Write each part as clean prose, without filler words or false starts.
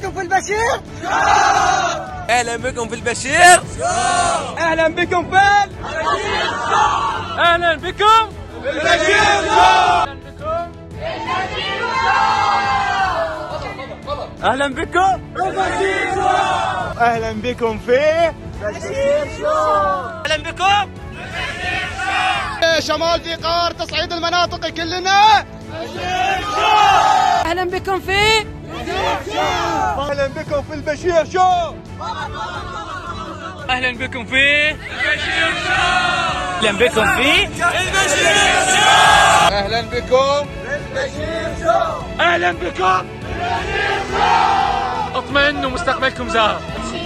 بكم في البشير شو. اهلا بكم في البشير شو. اهلا بكم في البشير شو. اهلا بكم في البشير شو. اهلا بكم في البشير شو. اهلا بكم في البشير شو. اهلا بكم شمال ذي قار تصعيد المناطق كلنا بشير شو. اهلا بكم في اهلا بكم في البشير شو. اهلا بكم في البشير شو. اهلا بكم في البشير شو. اهلا بكم في البشير شو. اهلا بكم اطمئنوا مستقبلكم زاهر.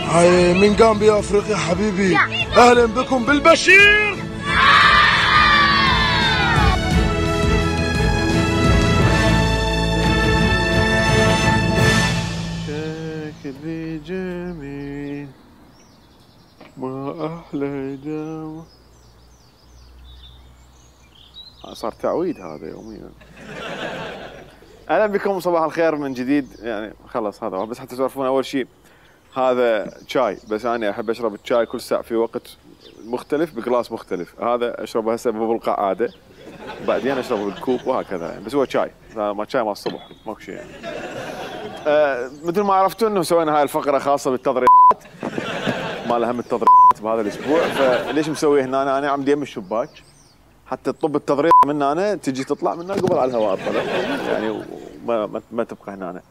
هاي من غامبيا افريقيا حبيبي. اهلا بكم بالبشير. شكلي جميل ما احلى دوا. صار تعويد هذا يوميا. اهلا بكم صباح الخير من جديد. يعني خلص هذا بس حتى تعرفون اول شيء هذا شاي، بس انا احب اشرب الشاي كل ساعه في وقت مختلف بجلاس مختلف. هذا اشربه هسه بالقعاده بعدين اشربه بالكوب وهكذا يعني. بس هو شاي ما شاي مال الصبح ماكو شيء يعني. مثل ما عرفتوا انه سوينا هاي الفقره خاصه بالتضريات مال اهم التضريات بهذا الاسبوع. فليش مسويه هنا؟ انا عم يم الشباك حتى تطب التضريط من هنا تجي تطلع منها قبل على الهواء الطلع يعني ما تبقى هنا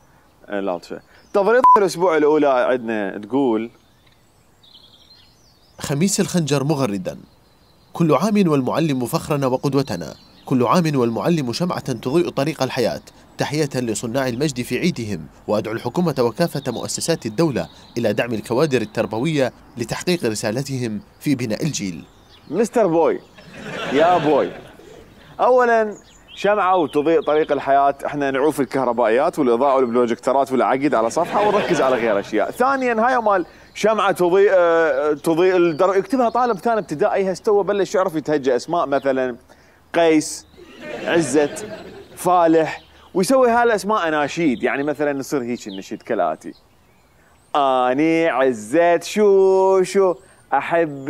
لاطفه. تضريط الاسبوع الاولى عندنا تقول: خميس الخنجر مغردا. كل عام والمعلم فخرنا وقدوتنا، كل عام والمعلم شمعة تضيء طريق الحياة. تحية لصناع المجد في عيدهم، وأدعو الحكومة وكافة مؤسسات الدولة إلى دعم الكوادر التربوية لتحقيق رسالتهم في بناء الجيل. مستر بوي يا بوي، أولا شمعة وتضيء طريق الحياة، احنا نعوف الكهربائيات والإضاءة والبروجكترات والعقد على صفحة ونركز على غير أشياء. ثانيا هاي مال شمعة تضيء يكتبها طالب ثاني ابتدائي هستوى بلش يعرف يتهجى اسماء مثلا قيس، عزت، فالح، ويسوي هالاسماء اناشيد. يعني مثلا يصير هيك النشيد كالاتي: اني عزت شو احب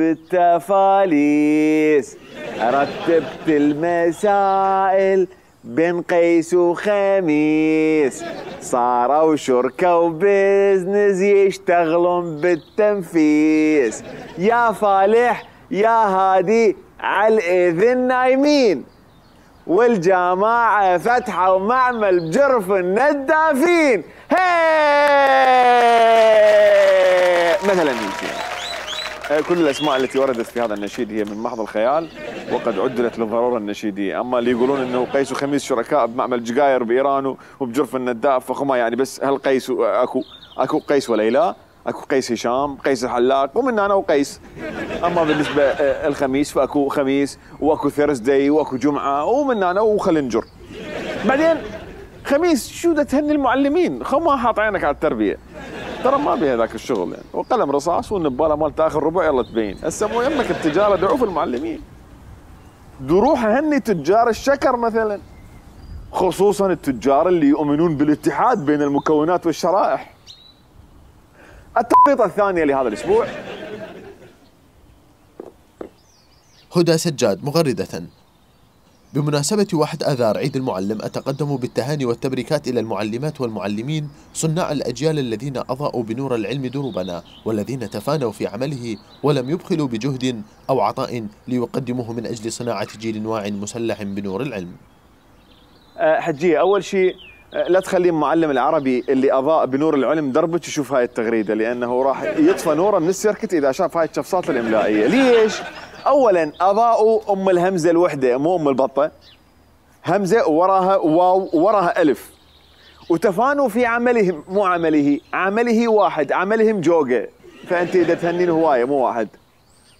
التفاليس، رتبت المسائل بين قيس وخميس، صاروا شركة وبزنس يشتغلون بالتنفيس، يا فالح يا هادي على الإذن نايمين، والجماعة فتحة ومعمل بجرف الندافين. مثلا هيك. كل الاسماء التي وردت في هذا النشيد هي من محض الخيال وقد عدلت للضروره النشيديه. اما اللي يقولون انه قيس وخميس شركاء بمعمل جقاير بايران وبجرف النداف فخما يعني بس هل قيس اكو قيس وليلى، اكو قيس هشام، قيس الحلاق ومن انا وقيس. اما بالنسبه الخميس فاكو خميس واكو ثيرزداي واكو جمعه ومن انا وخلنجر. بعدين خميس شو دا تهني المعلمين؟ ما حاط عينك على التربيه ترى ما بيها ذاك الشغل يعني. وقلم رصاص والنباله مالت اخر ربع يلا تبين. هسه مو يمك التجاره دعوا في المعلمين. روح هني تجار الشكر مثلا، خصوصا التجار اللي يؤمنون بالاتحاد بين المكونات والشرائح. التخطيطه الثانيه لهذا الاسبوع: هدى سجاد مغردة. بمناسبة 1 آذار عيد المعلم أتقدم بالتهاني والتبريكات إلى المعلمات والمعلمين صناع الأجيال الذين أضاءوا بنور العلم دروبنا، والذين تفانوا في عمله ولم يبخلوا بجهد أو عطاء ليقدموه من أجل صناعة جيل واع مسلح بنور العلم. حجية، أول شيء لا تخلي المعلم العربي اللي أضاء بنور العلم دربك يشوف هاي التغريدة، لأنه راح يطفى نوره من السيركت إذا شاف هاي الشفصات الإملائية. ليش؟ أولاً أضاءوا أم الهمزة الوحدة مو أم البطة، همزة ووراها واو ووراها ألف، وتفانوا في عملهم مو عمله واحد، عملهم جوجة، فأنت إذا تهنين هواية مو واحد.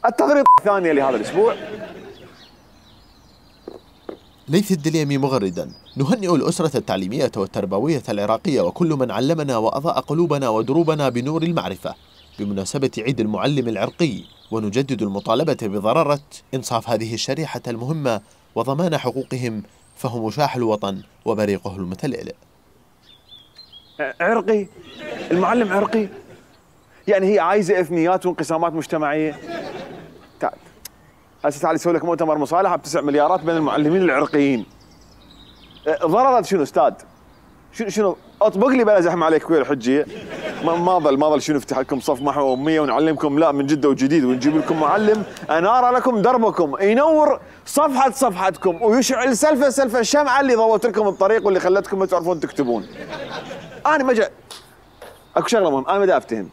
التغريدة الثانية لهذا الأسبوع: ليث الدليمي مغردا. نهنئ الأسرة التعليمية والتربوية العراقية وكل من علمنا وأضاء قلوبنا ودروبنا بنور المعرفة بمناسبة عيد المعلم العرقي، ونجدد المطالبة بضرورة إنصاف هذه الشريحة المهمة وضمان حقوقهم، فهم شاح الوطن وبريقه المتلألئ. عرقي المعلم عرقي؟ يعني هي عايزه اثنيات وانقسامات مجتمعيه؟ تعال هسه تعال يسوي لك مؤتمر مصالحه ب9 مليارات بين المعلمين العرقيين. ضررت شنو استاذ؟ شنو اطبق لي بلا زحمه عليك ويا الحجيه. ما ظل شنو نفتح لكم صف محو اميه ونعلمكم لا من جده وجديد ونجيب لكم معلم انار لكم دربكم ينور صفحتكم ويشعل سلفه الشمعه اللي ضوت لكم الطريق واللي خلتكم ما تعرفون تكتبون. انا ما اكو شغله مهم انا ما افتهم.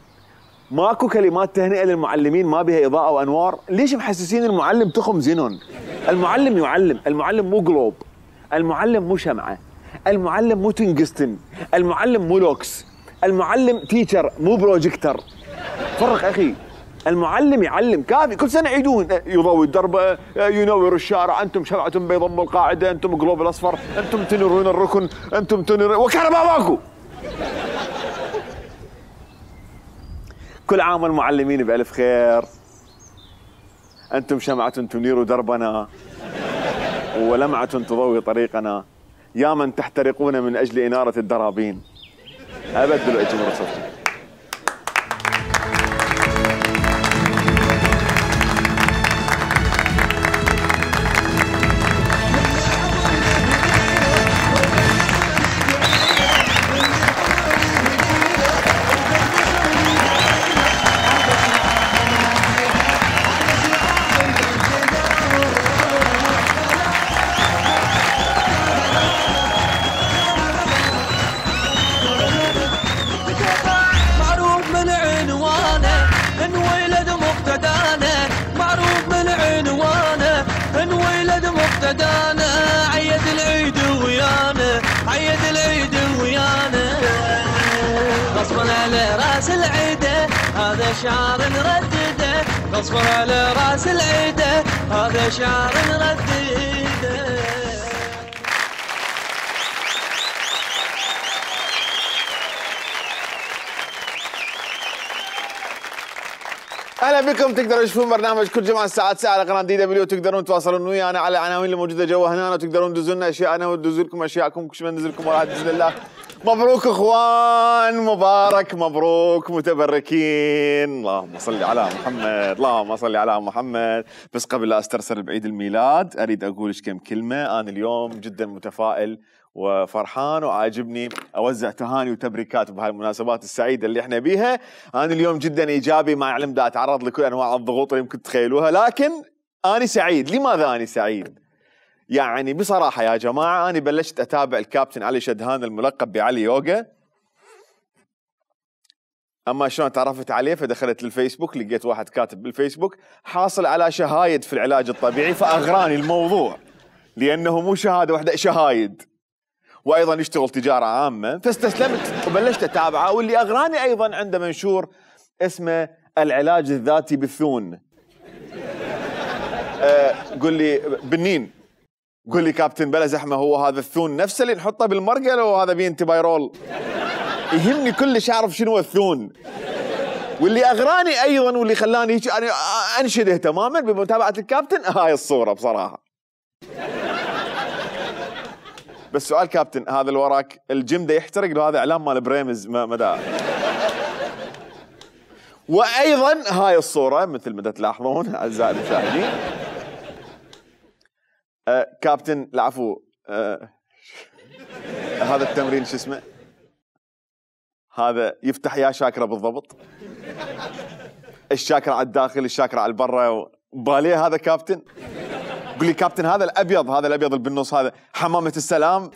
ماكو كلمات تهنئه للمعلمين ما بها اضاءه وانوار؟ ليش محسسين المعلم تخم زينون؟ المعلم يعلم، المعلم مو جلوب، المعلم مو شمعه، المعلم مو تنجستن، المعلم مو لوكس، المعلم تيتشر مو بروجيكتر. فرق اخي. المعلم يعلم كافي، كل سنه يعيدون يضوي الدرب، ينور الشارع، انتم شمعه بيض ام القاعده، انتم جلوب الاصفر، انتم تنيرون الركن، انتم تنيرون وكهرباء ماكو. كل عام والمعلمين بألف خير. أنتم شمعة تنير دربنا ولمعة تضوي طريقنا، يا من تحترقون من أجل إنارة الدرابين. أبدلوا أجمل صوتكم. هذا شعر نردده غصبا على راس العيده، هذا شعر نردده. اهلا بكم. تقدروا تشوفون برنامج كل جمعه الساعه 9 على قناه دي دبليو. تقدرون تواصلون ويانا على العناوين اللي موجوده جوا هنا، وتقدرون تدزوا لنا اشياءنا وتدزوا لكم اشياءكم. كل ما ننزل لكم راح تدز لله. مبروك اخوان، مبارك مبروك متبركين. اللهم صل على محمد، اللهم صل على محمد. بس قبل لا استرسل بعيد الميلاد اريد اقول كم كلمه. انا اليوم جدا متفائل وفرحان وعاجبني اوزع تهاني وتبريكات بهالمناسبات السعيده اللي احنا بيها. انا اليوم جدا ايجابي، مع العلم دا اتعرض لكل انواع الضغوط اللي يمكن تتخيلوها، لكن انا سعيد. لماذا انا سعيد؟ يعني بصراحة يا جماعة أنا بلشت أتابع الكابتن علي شدهان الملقب بعلي يوغا. أما شلون تعرفت عليه؟ فدخلت للفيسبوك لقيت واحد كاتب بالفيسبوك حاصل على شهايد في العلاج الطبيعي، فأغراني الموضوع لأنه مو شهادة واحدة، شهايد، وأيضا يشتغل تجارة عامة. فاستسلمت وبلشت أتابعه. واللي أغراني أيضا عنده منشور اسمه العلاج الذاتي بالثون. قل لي بنين، قول لي كابتن بلا زحمه، هو هذا الثون نفسه اللي نحطه بالمرقه لو هذا بينتبايرول؟ يهمني كلش اعرف شنو الثون. واللي اغراني ايضا واللي خلاني هيك يعني انشده تماما بمتابعه الكابتن هاي الصوره بصراحه. بس سؤال كابتن، هذا اللي وراك الجيم ده يحترق لو هذا اعلان مال بريمز مدى. وايضا هاي الصوره مثل ما تلاحظون اعزائي المشاهدين، كابتن العفو، هذا التمرين شو اسمه؟ هذا يفتح يا شاكرة بالضبط؟ الشاكرة على الداخل، الشاكرة على البرة، باليه هذا كابتن؟ قل لي كابتن هذا الابيض، هذا الابيض اللي بالنص هذا حمامة السلام؟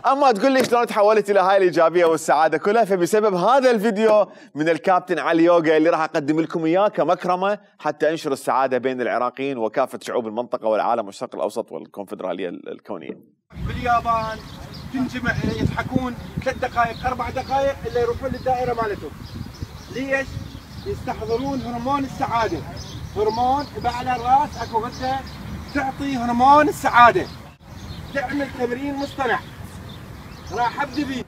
اما تقول لي شلون تحولت الى هاي الايجابيه والسعاده كلها؟ فبسبب هذا الفيديو من الكابتن علي يوغا اللي راح اقدم لكم اياه كمكرمه حتى انشر السعاده بين العراقيين وكافه شعوب المنطقه والعالم والشرق الاوسط والكونفدراليه الكونيه. باليابان تنجمع يضحكون 3 دقائق 4 دقائق الا يروحون للدائره مالتهم. ليش؟ يستحضرون هرمون السعاده. هرمون على الراس اكو غده تعطي هرمون السعاده. تعمل تمرين مصطنع. راح ابدي بيه.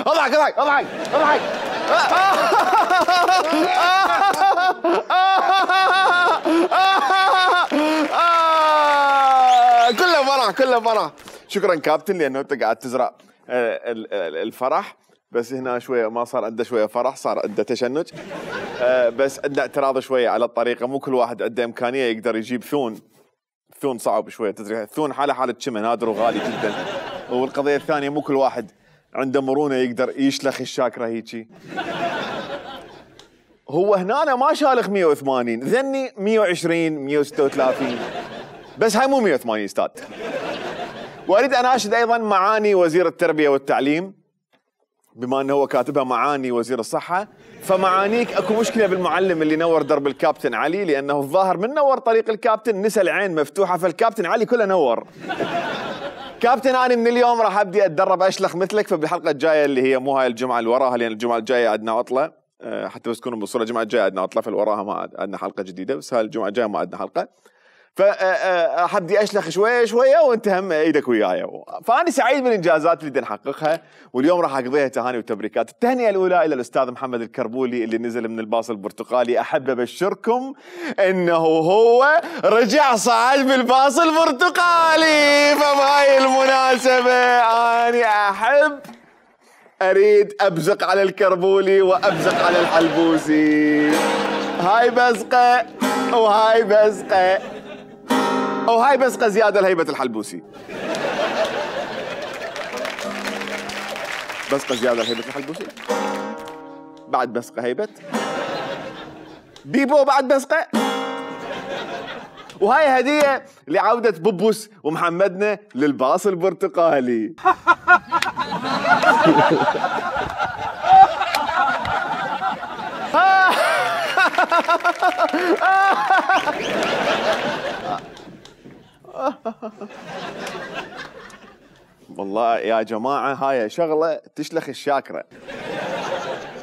اضحك اضحك اضحك اضحك. كله فرح كله فرح. شكرا كابتن لانه انت قاعد تزرع الفرح، بس هنا شويه ما صار عنده شويه فرح، صار عنده تشنج. بس عنده اعتراض شويه على الطريقه، مو كل واحد عنده امكانيه يقدر يجيب ثون. ثون صعب شويه، تدري الثون حاله شمن نادر وغالي جدا. والقضيه الثانيه مو كل واحد عنده مرونه يقدر يشلخ الشاكره هيجي. هو هنا أنا ما شالخ 180، ذني 120 136، بس هاي مو 180 استاذ. واريد اناشد ايضا معاني وزير التربيه والتعليم، بما انه هو كاتبها معاني وزير الصحه، فمعانيك اكو مشكله بالمعلم اللي نور درب الكابتن علي، لانه الظاهر من نور طريق الكابتن نسى العين مفتوحه، فالكابتن علي كله نور. كابتن انا من اليوم راح ابدي اتدرب اشلخ مثلك، فبالحلقه الجايه اللي هي مو هاي الجمعه اللي وراها، لان الجمعه الجايه عندنا عطله، حتى بس تكونوا بالصوره الجمعه الجايه عندنا عطله، في وراها ما عندنا حلقه جديده، بس هاي الجمعه الجايه ما عندنا حلقه. فحبدي اشلخ شويه شويه وانت هم ايدك وياي. فانا سعيد بالانجازات اللي بدنا نحققها، واليوم راح اقضيها تهاني وتبريكات. التهنئه الاولى الى الاستاذ محمد الكربولي اللي نزل من الباص البرتقالي. احب ابشركم انه هو رجع صعد بالباص البرتقالي، فبهاي المناسبه انا اريد ابزق على الكربولي وابزق على الحلبوسي. هاي بزقه وهاي بزقه وهاي بزقه زياده لهيبه الحلبوسي. بزقه زياده لهيبه الحلبوسي، بعد بزقه هيبه بيبو، بعد بزقه. وهاي هديه لعوده بوبوس ومحمدنا للباص البرتقالي. والله يا جماعة هاي شغلة تشلخ الشاكرة.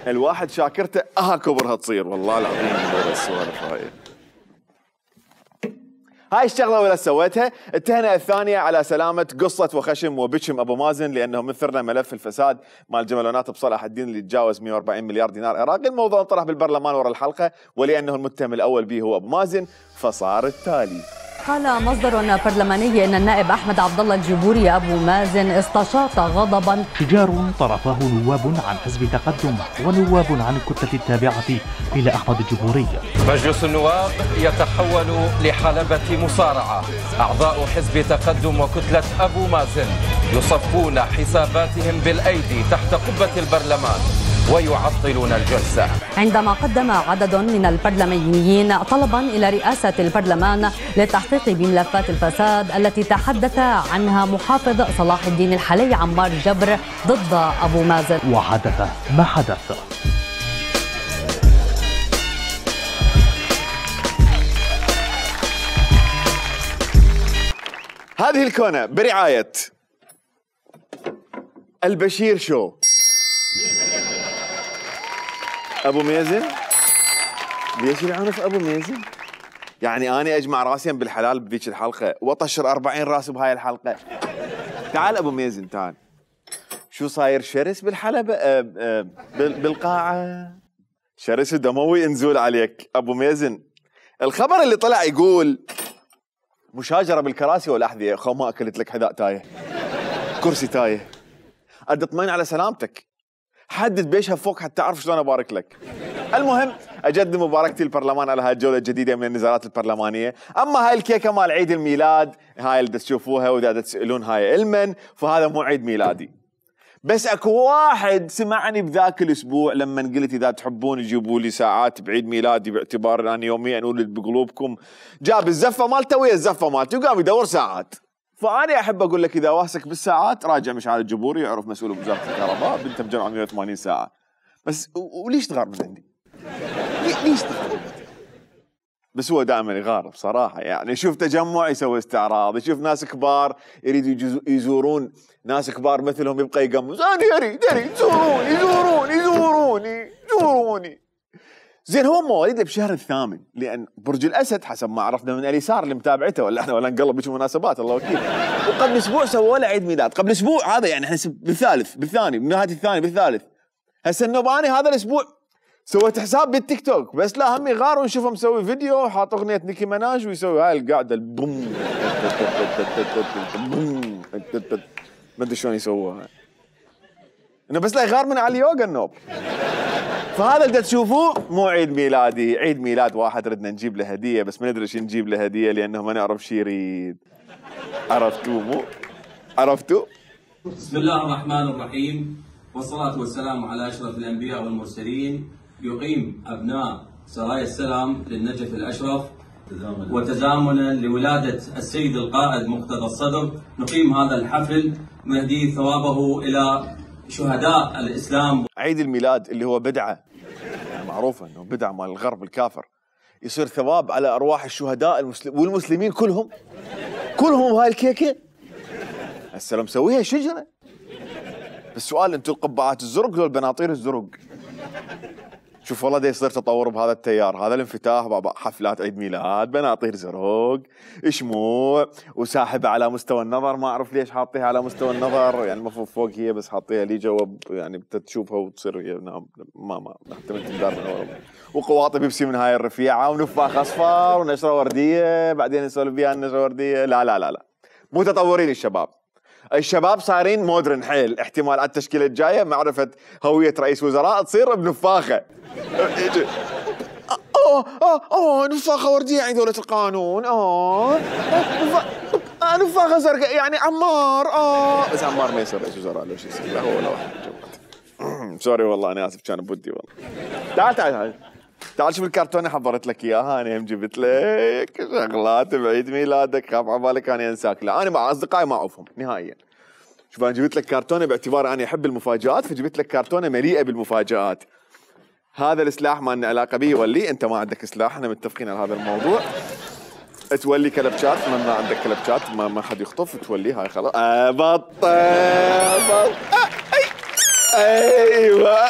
الواحد شاكرته كبرها تصير، والله العظيم السوالف هاي الشغلة ولا سويتها. التهنئة الثانية على سلامة قصة وخشم وبشم أبو مازن، لأنه مثرنا ملف الفساد مال جملونات بصلاح الدين اللي تجاوز 140 مليار دينار عراقي. الموضوع انطرح بالبرلمان ورا الحلقة، ولأنه المتهم الأول به هو أبو مازن فصار التالي. قال مصدر برلماني ان النائب احمد عبد الله الجبوري ابو مازن استشاط غضبا. شجار طرفه نواب عن حزب تقدم ونواب عن الكتله التابعه الى احمد الجبوري. مجلس النواب يتحول لحلبة مصارعة. اعضاء حزب تقدم وكتله ابو مازن يصفون حساباتهم بالايدي تحت قبة البرلمان ويعطلون الجلسة، عندما قدم عدد من البرلمانيين طلبا إلى رئاسة البرلمان للتحقيق بملفات الفساد التي تحدث عنها محافظ صلاح الدين الحلي عمار جبر ضد أبو مازن. وحدث ما حدث. هذه الكونة برعاية البشير شو. ابو مازن ليش العنف ابو مازن؟ يعني انا اجمع راسي بالحلال بذيك الحلقه واطشر 40 راس بهاي الحلقه. تعال ابو مازن تعال، شو صاير شرس بالحلبه بالقاعه؟ شرس دموي انزول عليك ابو مازن. الخبر اللي طلع يقول مشاجره بالكراسي والاحذيه. خو ما اكلت لك حذاء تايه، كرسي تايه، ادي اطمئن على سلامتك، حدد بيشها فوق حتى اعرف شلون ابارك لك. المهم اجدد مباركتي للبرلمان على هاي الجوله الجديده من النزالات البرلمانيه. اما هاي الكيكه مال عيد الميلاد هاي اللي تشوفوها واذا تسالون هاي المن، فهذا مو عيد ميلادي. بس اكو واحد سمعني بذاك الاسبوع لما قلت اذا تحبون جيبوا لي ساعات بعيد ميلادي باعتبار اني يوميا اولد بقلوبكم، جاب الزفه مالته ويا الزفه مالتي وقام يدور ساعات. فأنا أحب أقول لك إذا واسك بالساعات راجع مشعل الجبوري يعرف مسؤول بوزارة الكهرباء بنته مجمع 180 ساعة. بس وليش تغار من عندي؟ ليش تغار من عندي؟ بس هو دائما يغار بصراحة، يعني يشوف تجمع يسوي استعراض، يشوف ناس كبار يريدوا يزورون ناس كبار مثلهم يبقى يقمز. أنا دري زوروني زين هو مواليد بشهر الثامن، لان برج الاسد حسب ما عرفنا من اليسار اللي متابعته، ولا احنا ولا نقلب بشي مناسبات الله وكيل. وقبل اسبوع سووا له عيد ميلاد، قبل اسبوع هذا يعني احنا بالثالث بالثاني بنهايه الثاني بالثالث. هسه النوباني هذا الاسبوع سويت حساب بالتيك توك بس لا هم يغار ونشوفه مسوي فيديو حاط اغنيه نيكي مناج ويسوي هاي القعده البوم ما ادري شلون يسووها، انه بس لا يغار من على اليوغا النوب. فهذا اللي تشوفوه مو عيد ميلادي، عيد ميلاد واحد ردنا نجيب له هديه بس ما ندري شو نجيب له هديه لانه ما نعرف شو يريد. عرفتوا مو؟ عرفتوا؟ بسم الله الرحمن الرحيم، والصلاة والسلام على أشرف الأنبياء والمرسلين. يقيم أبناء سرايا السلام للنجف الأشرف وتزامنا لولادة السيد القائد مقتدى الصدر نقيم هذا الحفل نهدي ثوابه إلى شهداء الإسلام. عيد الميلاد اللي هو بدعة يعني معروفة أنه بدعة مال الغرب الكافر، يصير ثواب على أرواح الشهداء والمسلمين كلهم هاي الكيكة. هسه لو مسويها شجرة. السؤال انتم القبعات الزرق لو البناطير الزرق؟ شوف والله دا يصير تطور بهذا التيار، هذا الانفتاح بابا حفلات عيد ميلاد بناطير زرق شموع وساحبه على مستوى النظر، ما اعرف ليش حاطيها على مستوى النظر، يعني المفروض فوق هي بس حاطيها لي جوا يعني تشوفها وتصير هي ما حتى من تقدر من ورا، وقواطي بيبسي من هاي الرفيعه ونفاخ اصفر ونشره ورديه بعدين نسولف بيها النشره ورديه. لا لا لا لا مو تطورين الشباب صارين مودرن حيل. احتمال على التشكيله الجايه معرفه هويه رئيس وزراء تصير بنفاخه. نفاخه ورديه عند دوله القانون. نفاخه زرقاء يعني عمار. بس عمار ما يصير رئيس وزراء لو شو يصير، لا هو ولا واحد. سوري والله انا اسف كان بودي والله. تعال شوف الكرتونه حضرت لك اياها، انا هم جبت لك شغلات بعيد ميلادك، خاف عبالك انا انساك. لا انا مع اصدقائي ما اعوفهم نهائيا. شوف انا جبت لك كرتونه باعتبار انا احب المفاجآت، فجبت لك كرتونه مليئه بالمفاجآت. هذا السلاح ما لنا علاقه به، ولي انت ما عندك سلاح، احنا متفقين على هذا الموضوع. تولي كلبشات، ما عندك كلبشات ما حد يخطف، تولي هاي خلاص. بطل ايوه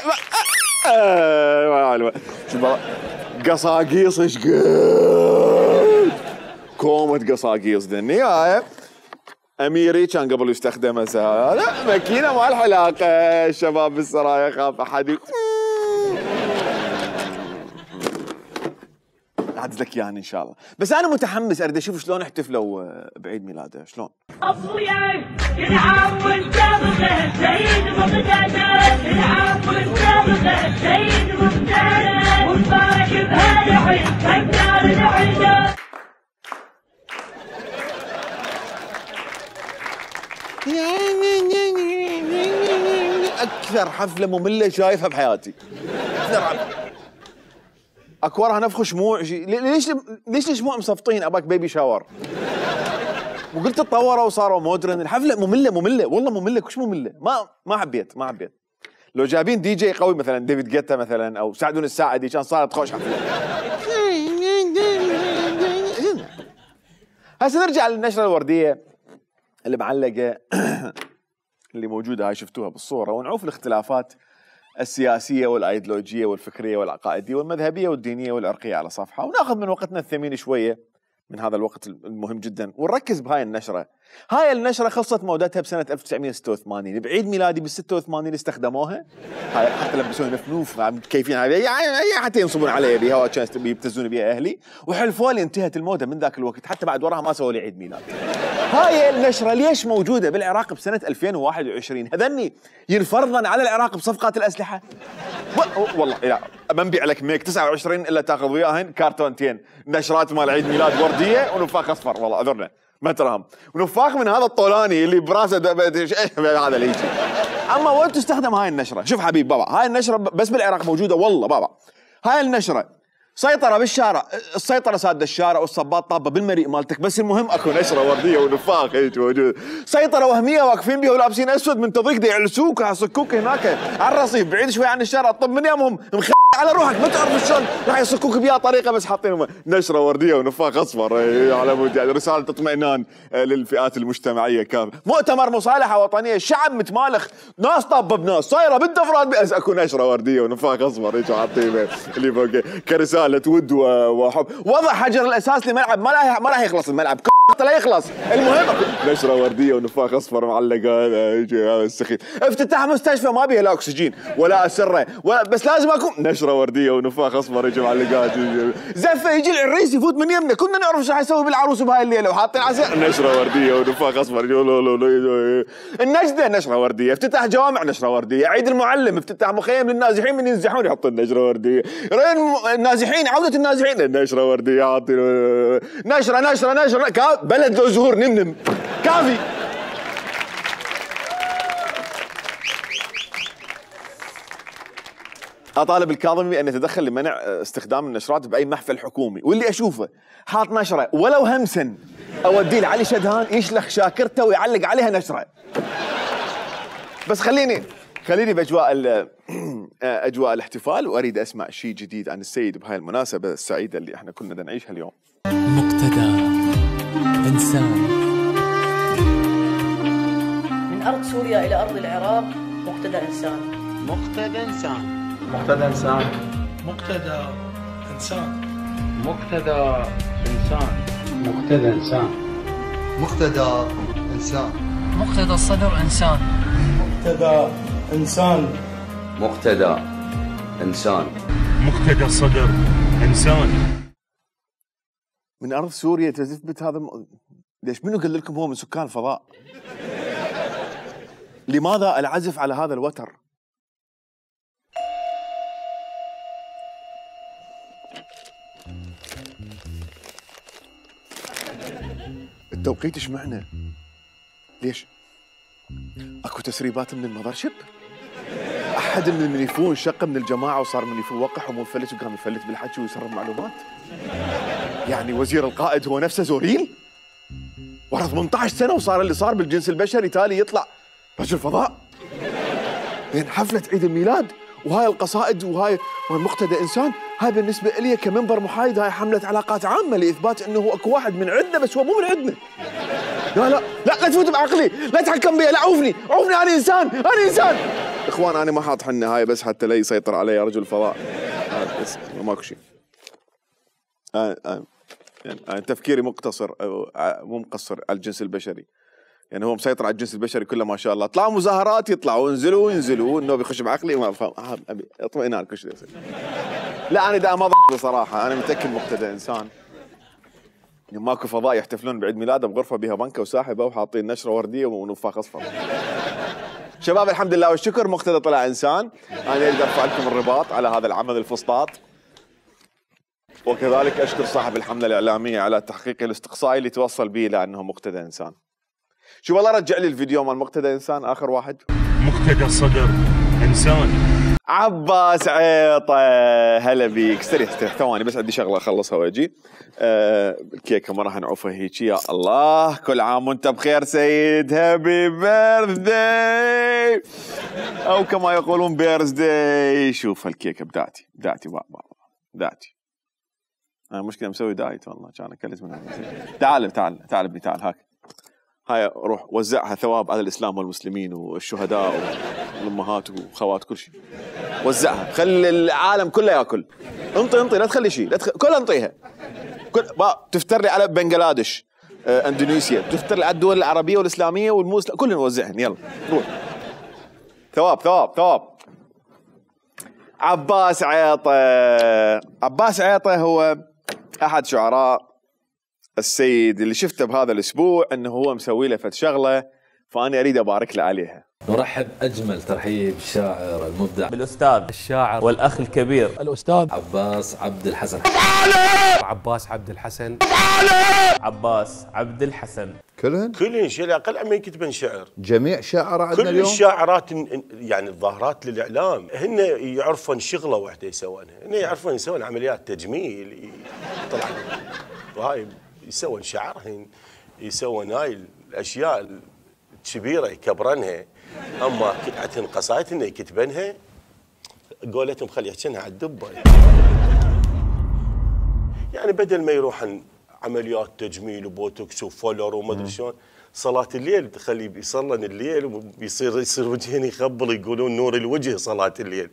شوف قصاقيص ايش قد كومة قصاقيص بالنهاية. اميري كان قبل يستخدمها هذا ماكينة مال حلاقة. الشباب بالسرايا خاف احد اعدز لك اياها ان شاء الله. بس انا متحمس اريد اشوف شلون احتفلوا بعيد ميلاده شلون. ابويا يلعب والسابقه سيد مقتدى، يلعب والسابقه سيد مقتدى، ومبارك بهالعيد فكر العيد. اكثر حفله ممله شايفها بحياتي. اكورها نفخ شموع. ليش الشموع مصفطين؟ اباك بيبي شاور. وقلت تطوروا وصاروا مودرن. الحفله ممله والله ممله كش ممله. ما حبيت. لو جايبين دي جي قوي مثلا ديفيد جيتا مثلا او سعدون الساعدي كان صارت خوش حفله. هسه نرجع للنشره الورديه اللي معلقه اللي موجوده هاي شفتوها بالصوره، ونعوف الاختلافات السياسيه والايديولوجيه والفكريه والعقائديه والمذهبيه والدينيه والعرقيه على صفحه، وناخذ من وقتنا الثمين شويه من هذا الوقت المهم جدا ونركز بهاي النشره. هاي النشره خلصت مودتها بسنه 1986، بعيد ميلادي بال 86 استخدموها. هاي حتى لبسوني نفنوف كيفين هاي يعني حتى ينصبون علي بها وكان يبتزون بها اهلي، وحلفوا لي انتهت الموضه من ذاك الوقت، حتى بعد وراها ما سووا لي عيد ميلاد. هاي النشره ليش موجوده بالعراق بسنه 2021؟ هذني ينفرضن على العراق بصفقات الاسلحه؟ والله لا ما نبيع لك ميك 29 الا تاخذ وياهن كارتونتين نشرات مال عيد ميلاد ورديه ونفاخ اصفر. والله اعذرنا ما تراهم، ونفاخ من هذا الطولاني اللي براسه هذا اللي يجي. اما وين تستخدم هاي النشره؟ شوف حبيب بابا، هاي النشره بس بالعراق موجوده والله بابا. هاي النشره سيطره بالشارع، السيطره ساده الشارع والصباط طابه بالمريء مالتك، بس المهم اكو نشره ورديه ونفاخ هيك موجود. سيطره وهميه واقفين بيها ولابسين اسود من تضيق يعلسوك ويصكوك هناك على الرصيف بعيد شوي عن الشارع. طب من يومهم على روحك ما تعرف شلون راح يصكوك بيها طريقه بس حاطين نشره ورديه ونفاخ اصفر على مود يعني رساله اطمئنان للفئات المجتمعيه كامله. مؤتمر مصالحه وطنيه، الشعب متمالخ، ناس طابه بناس صايره بالدفرات بس اكو نشره ورديه ونفاخ اصفر هيك حاطين اللي فوق كرساله ود وحب. وضع حجر الاساس لملعب ما راح يخلص الملعب لا يخلص. المهم نشره ورديه ونفاخ اصفر معلقه هذا السخيف. افتتاح مستشفى ما بيها لا اكسجين ولا اسره ولا بس لازم اكو نشره ورديه ونفاخ اصفر يجي معلقات. زفه يجي العريس يفوت من يمنا، كنا نعرف شو حيسوي بالعروس بهاي الليله وحاطين عسل نشره ورديه ونفاخ اصفر. النجده نشره ورديه، افتتاح جوامع نشره ورديه، عيد المعلم افتتاح مخيم للنازحين من ينزحون يحطون نشره ورديه، النازحين عوده النازحين نشره ورديه حاطين نشره بلد له زهور نمنم كافي. اطالب الكاظمي بان يتدخل لمنع استخدام النشرات باي محفل حكومي، واللي اشوفه حاط نشره ولو همسا اوديه لعلي شدهان يشلخ شاكرته ويعلق عليها نشره. بس خليني باجواء الاحتفال، واريد اسمع شيء جديد عن السيد بهاي المناسبه السعيده اللي احنا كنا نعيشها اليوم. مقتدى إنسان. من أرض سوريا إلى أرض العراق مقتدى إنسان. مقتدى إنسان. مقتدى إنسان. مقتدى إنسان. مقتدى إنسان. مقتدى إنسان. مقتدى إنسان. مقتدى الصدر إنسان. مقتدى إنسان. مقتدى إنسان. مقتدى الصدر إنسان. من أرض سوريا تثبت هذا ليش منو قال لكم هو من سكان الفضاء؟ لماذا العزف على هذا الوتر؟ التوقيت ايش معنى؟ ليش؟ اكو تسريبات من المذرشب؟ احد من المنيفون شق من الجماعه وصار منيفون وقح ومنفلت وقام يفلت بالحكي ويسرب معلومات؟ يعني وزير القائد هو نفسه زوريل؟ ورا 18 سنه وصار اللي صار بالجنس البشري تالي يطلع رجل فضاء؟ بين حفله عيد الميلاد وهاي القصائد وهاي مقتدى انسان، هاي بالنسبه لي كمنبر محايد هاي حمله علاقات عامه لاثبات انه اكو واحد من عندنا بس هو مو من عندنا. لا تفوت بعقلي، لا تحكم بي، لا عوفني انا انسان. اخوان انا ما حاط حنه هاي بس حتى لا يسيطر علي رجل فضاء. بس ماكو شيء. يعني تفكيري مقتصر مو مقصر على الجنس البشري. يعني هو مسيطر على الجنس البشري كله ما شاء الله، طلعوا مظاهرات يطلعوا ينزلوا انه بيخش بعقلي ما افهم. ابي اطمئنان كل شيء يصير. لا انا دا ما بصراحه، انا متاكد مقتدى انسان. ماكو فضاء يحتفلون بعيد ميلاده بغرفه بها بنكه وساحبه وحاطين نشره ورديه ونفاخ اصفر. شباب الحمد لله والشكر مقتدى طلع انسان. انا اريد ارفع لكم الرباط على هذا العمل الفسطاط، وكذلك اشكر صاحب الحمله الاعلاميه على تحقيق الاستقصائي اللي توصل به الى انه مقتدى انسان. شو والله رجع لي الفيديو مال مقتدى انسان اخر واحد. مقتدى الصدر انسان. عباس عيطه هلا بيك. استريح ثواني بس عندي شغله اخلصها واجي. الكيكه ما راح نعوفها هيك. يا الله كل عام وانت بخير سيد، هابي بيرث داي او كما يقولون بيرث داي. شوف الكيكه بداتي انا مشكله مسوي دايت والله، كان اكلت منها. تعال ابني تعال هاك هاي روح وزعها ثواب على الاسلام والمسلمين والشهداء والامهات وخوات كل شيء. وزعها خلي العالم كله ياكل. انطي لا تخلي شيء، كلها انطيها. تفتر لي على بنغلاديش، اندونيسيا، تفتر لي على الدول العربيه والاسلاميه والمسلم كلهم نوزعهم. يلا روح. ثواب. عباس عيطه هو احد شعراء السيد اللي شفته بهذا الاسبوع انه هو مسوي له فد شغله، فانا اريد ابارك له عليها. نرحب اجمل ترحيب بالشاعر المبدع بالاستاذ الشاعر والاخ الكبير الاستاذ عباس عبد الحسن. عباس عبد الحسن كلهن شيء اقل عم يكتبن شعر. جميع شاعر عندنا اليوم، كل الشاعرات يعني الظاهرات للاعلام هن يعرفون شغله واحده يسوونها، هن يعرفون يسوون عمليات تجميل طلع وهاي يسوون شعر، يسوون هاي الاشياء الكبيره يكبرنها. اما قصايد انه يكتبنها قولتهم خلي يحكينها على الدبه. يعني بدل ما يروح عن عمليات تجميل وبوتوكس وفولر وما ادري شلون، صلاة الليل تخليه بيصلن الليل وبيصير وجهين يخبل، يقولون نور الوجه صلاة الليل.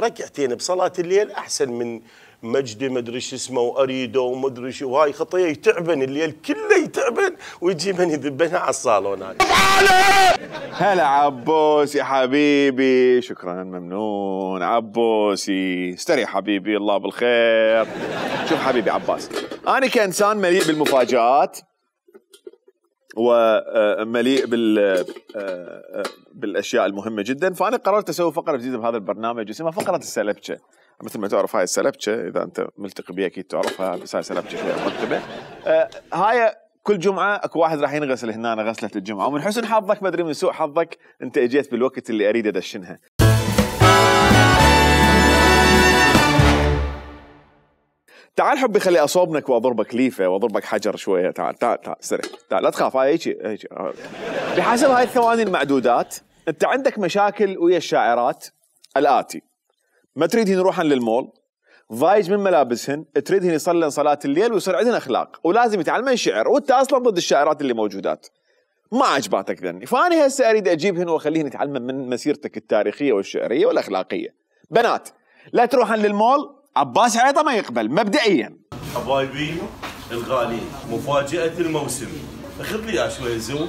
ركعتين بصلاة الليل احسن من مجدي ما ادري شو اسمه واريده وما ادري شو، وهاي خطيه يتعبن الليل كله يتعبن ويجي من يذبنها على الصالون. هلا عبوس يا حبيبي، شكرا ممنون عبوسي، استريح حبيبي الله بالخير. شوف حبيبي عباس، انا كانسان مليء بالمفاجآت ومليء بالاشياء المهمه جدا، فانا قررت اسوي فقره جديده بهذا البرنامج اسمها فقره السلبشه. مثل ما تعرف هاي السلبشه، اذا انت ملتقي بها اكيد تعرفها، بس هاي سلبشه شويه مرتبه. هاي كل جمعه اكو واحد راح ينغسل هنا غسله الجمعه، ومن حسن حظك ما ادري من سوء حظك انت اجيت بالوقت اللي اريد ادشنها. تعال حبي خلي اصوبنك واضربك ليفه واضربك حجر شويه. تعال تعال تعال استريح، تعال لا تخاف. هاي هيك بحسب هاي الثواني المعدودات انت عندك مشاكل ويا الشاعرات الاتي: ما تريدهن يروحن للمول، ضايج من ملابسهن، تريدهن يصلن صلاه الليل ويصير عندهن اخلاق، ولازم يتعلمن شعر، وانت اصلا ضد الشاعرات اللي موجودات ما عجباتك ذني. فانا هسه اريد اجيبهن واخليهن يتعلمن من مسيرتك التاريخيه والشعريه والاخلاقيه. بنات لا تروحن للمول، عباس عيطه ما يقبل مبدئيا. حبايبي الغاليين، مفاجاه الموسم، اخذ لي شويه زوم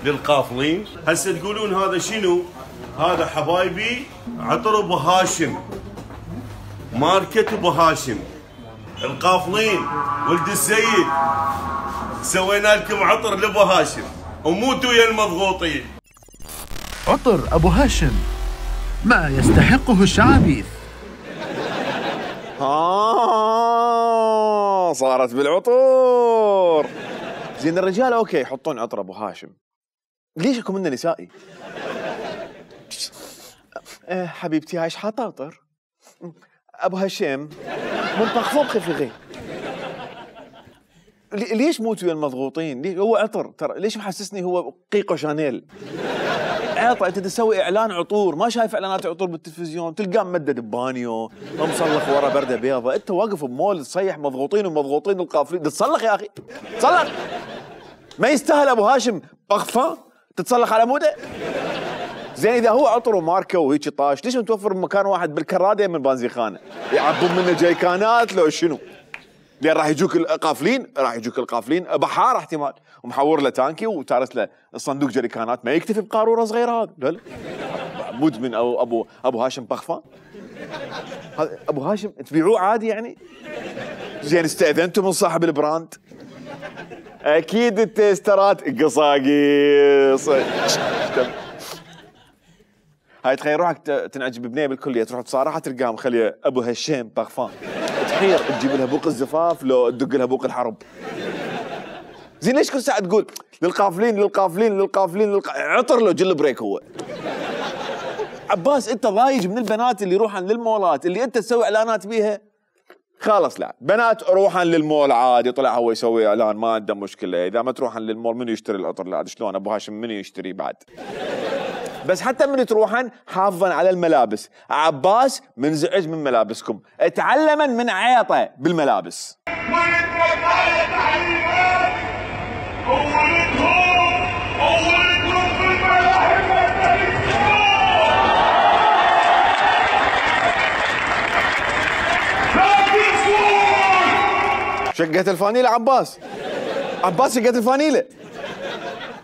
للقافلين. هسه تقولون هذا شنو؟ هذا حبايبي عطر ابو هاشم، ماركة ابو هاشم. القافلين ولد السيد سوينا لكم عطر لابو هاشم، وموتوا يا المضغوطين. عطر ابو هاشم ما يستحقه الشعابيث. صارت بالعطور. زين الرجال اوكي يحطون عطر ابو هاشم، ليش اكو منه نسائي؟ حبيبتي هاي ايش حاطه عطر؟ ابو هشام منطق فوق خفيغي. ليش موتوا يا المضغوطين؟ ليش هو عطر ترى؟ ليش محسسني هو قيقو شانيل؟ عطر. انت تسوي اعلان عطور، ما شايف اعلانات عطور بالتلفزيون؟ تلقاه ممدد ببانيو ومصلخ ورا برده بيضة، انت واقف بمول تصيح مضغوطين ومضغوطين القافلين، تصلخ يا اخي تصلخ. ما يستاهل ابو هاشم بغفه تتصلخ على موده؟ زين اذا هو عطر وماركه وهيك طاش، ليش متوفر بمكان واحد بالكراده من بنزيخانه؟ يعبون منه جيكانات لو شنو؟ لان راح يجوك القافلين، راح يجوك القافلين بحار احتمال، ومحور له تانكي وتارس له الصندوق جريكانات، ما يكتفي بقاروره صغيره هذا. لا لا مدمن او ابو هاشم بخفه. هذا ابو هاشم تبيعوه عادي يعني؟ زين استاذنتوا من صاحب البراند؟ اكيد التيسترات قصاقيص. هاي تخيل روحك تنعجب ببنيه بالكليه، تروح تصارحها تلقاها مخليه ابو هشام بغفان، تحير تجيب لها بوق الزفاف لو تدق لها بوق الحرب. زين ليش كل ساعه تقول للقافلين للقافلين للقافلين عطر لو جل بريك هو؟ عباس انت ضايج من البنات اللي يروحن للمولات اللي انت تسوي اعلانات بيها. خلاص لا بنات روحن للمول عادي، طلع هو يسوي اعلان ما عنده مشكله. اذا ما تروحن للمول منو يشتري العطر؟ لا شلون ابو هاشم منو يشتري بعد؟ بس حتى من تروحن حافظا على الملابس. عباس منزعج من ملابسكم، اتعلما من عيطه بالملابس. شقت الفانيلة عباس، عباس شقت الفانيلة.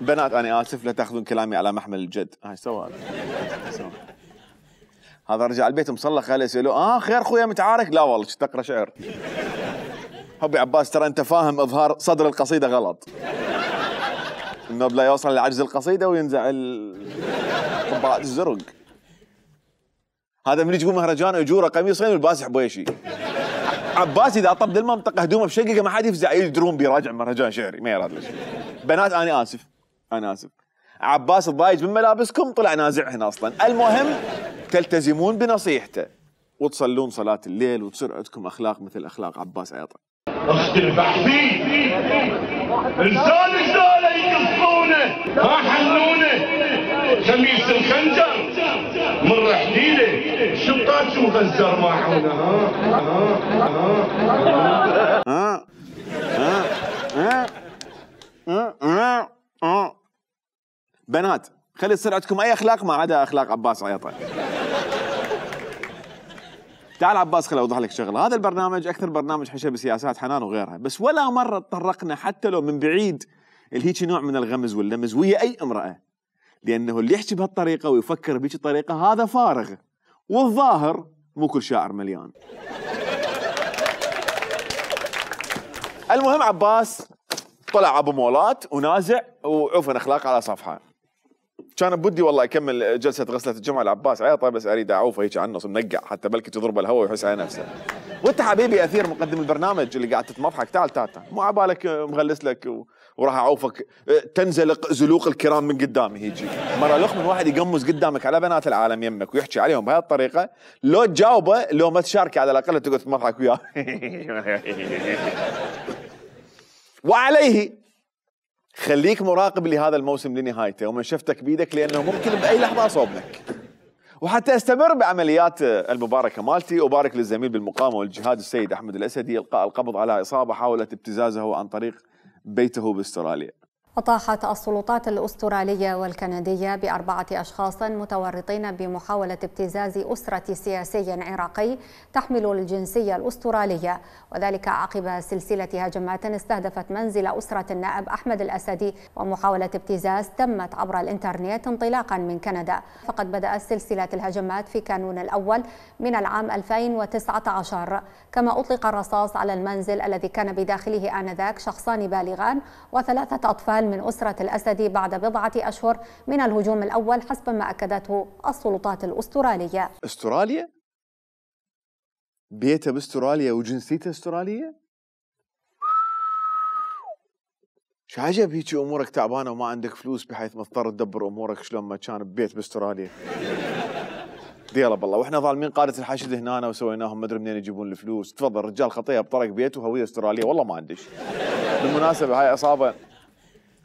بنات انا اسف لا تاخذون كلامي على محمل الجد. هاي سوى هذا رجع البيت مصلخ، خليه يسألوه خير خويا متعارك؟ لا والله تقرا شعر. حبي عباس ترى انت فاهم اظهار صدر القصيده غلط، انه لا يوصل لعجز القصيده وينزع طبقات الزرق. هذا من يجيبون مهرجان اجوره قميصين والباسح بويشي. عباس اذا طب المنطقه هدومه بشققه ما حد يفزع يدرون بيراجع مهرجان شعري ما يراد ليش. بنات انا اسف انا اسف، عباس الضايج من ملابسكم طلع نازعهن اصلا. المهم تلتزمون بنصيحته وتصلون صلاه الليل وتصير عندكم اخلاق مثل اخلاق عباس عيطه. اختلف احبي انسان رجاله يقصونه ما حنونه خميس الخنجر من رحديله شو تفزر معونه بنات خلي يصير عندكم اي اخلاق ما عدا اخلاق عباس عيطه. تعال عباس خليني اوضح لك شغله، هذا البرنامج اكثر برنامج حشى بسياسات حنان وغيرها، بس ولا مره تطرقنا حتى لو من بعيد الهيك نوع من الغمز واللمز ويا اي امراه، لانه اللي يحكي بهالطريقه ويفكر بهيك الطريقه هذا فارغ، والظاهر مو كل شاعر مليان. المهم عباس طلع ابو مولات ونازع وعوفن اخلاق على صفحه. كان بدي والله اكمل جلسه غسله الجمعه لعباس عيطه، بس اريد اعوفه هيك على النص منقع حتى بلكي تضرب الهواء ويحس على نفسه. وانت حبيبي اثير مقدم البرنامج اللي قاعد تتمضحك، تعال تعال تعال، مو عبالك مغلس لك وراح اعوفك تنزلق زلوق الكرام من قدامي هيجي. مره لخ من واحد يقمز قدامك على بنات العالم يمك ويحكي عليهم بهذه الطريقه، لو تجاوبه لو ما تشاركه على الاقل تقعد تضحك وياه. وعليه خليك مراقب لهذا الموسم لنهايته ومن شفتك بيدك، لانه ممكن باي لحظه اصوبنك. وحتى استمر بعمليات المباركه مالتي، ابارك للزميل بالمقاومه والجهاد السيد احمد الاسدي القاء القبض على عصابه حاولت ابتزازه عن طريق بيته باستراليا. أطاحت السلطات الأسترالية والكندية ب4 أشخاص متورطين بمحاولة ابتزاز أسرة سياسي عراقي تحمل الجنسية الأسترالية، وذلك عقب سلسلة هجمات استهدفت منزل أسرة النائب أحمد الأسدي، ومحاولة ابتزاز تمت عبر الإنترنت انطلاقا من كندا. فقد بدأت سلسلة الهجمات في كانون الأول من العام 2019، كما أطلق الرصاص على المنزل الذي كان بداخله آنذاك شخصان بالغان و3 أطفال من أسرة الأسدي بعد 4 أشهر من الهجوم الأول، حسب ما أكدته السلطات الأسترالية. أستراليا؟ بيته باستراليا وجنسيته استرالية؟ شو عجب هيك أمورك تعبانة وما عندك فلوس بحيث مضطر تدبر أمورك شلون ما كان ببيت باستراليا. ديلا بالله واحنا ظالمين قادة الحشد هنا وسويناهم ما ادري منين يجيبون الفلوس. تفضل رجال خطيه بطرق بيته وهويه استراليه والله ما عندش. بالمناسبه هاي عصابه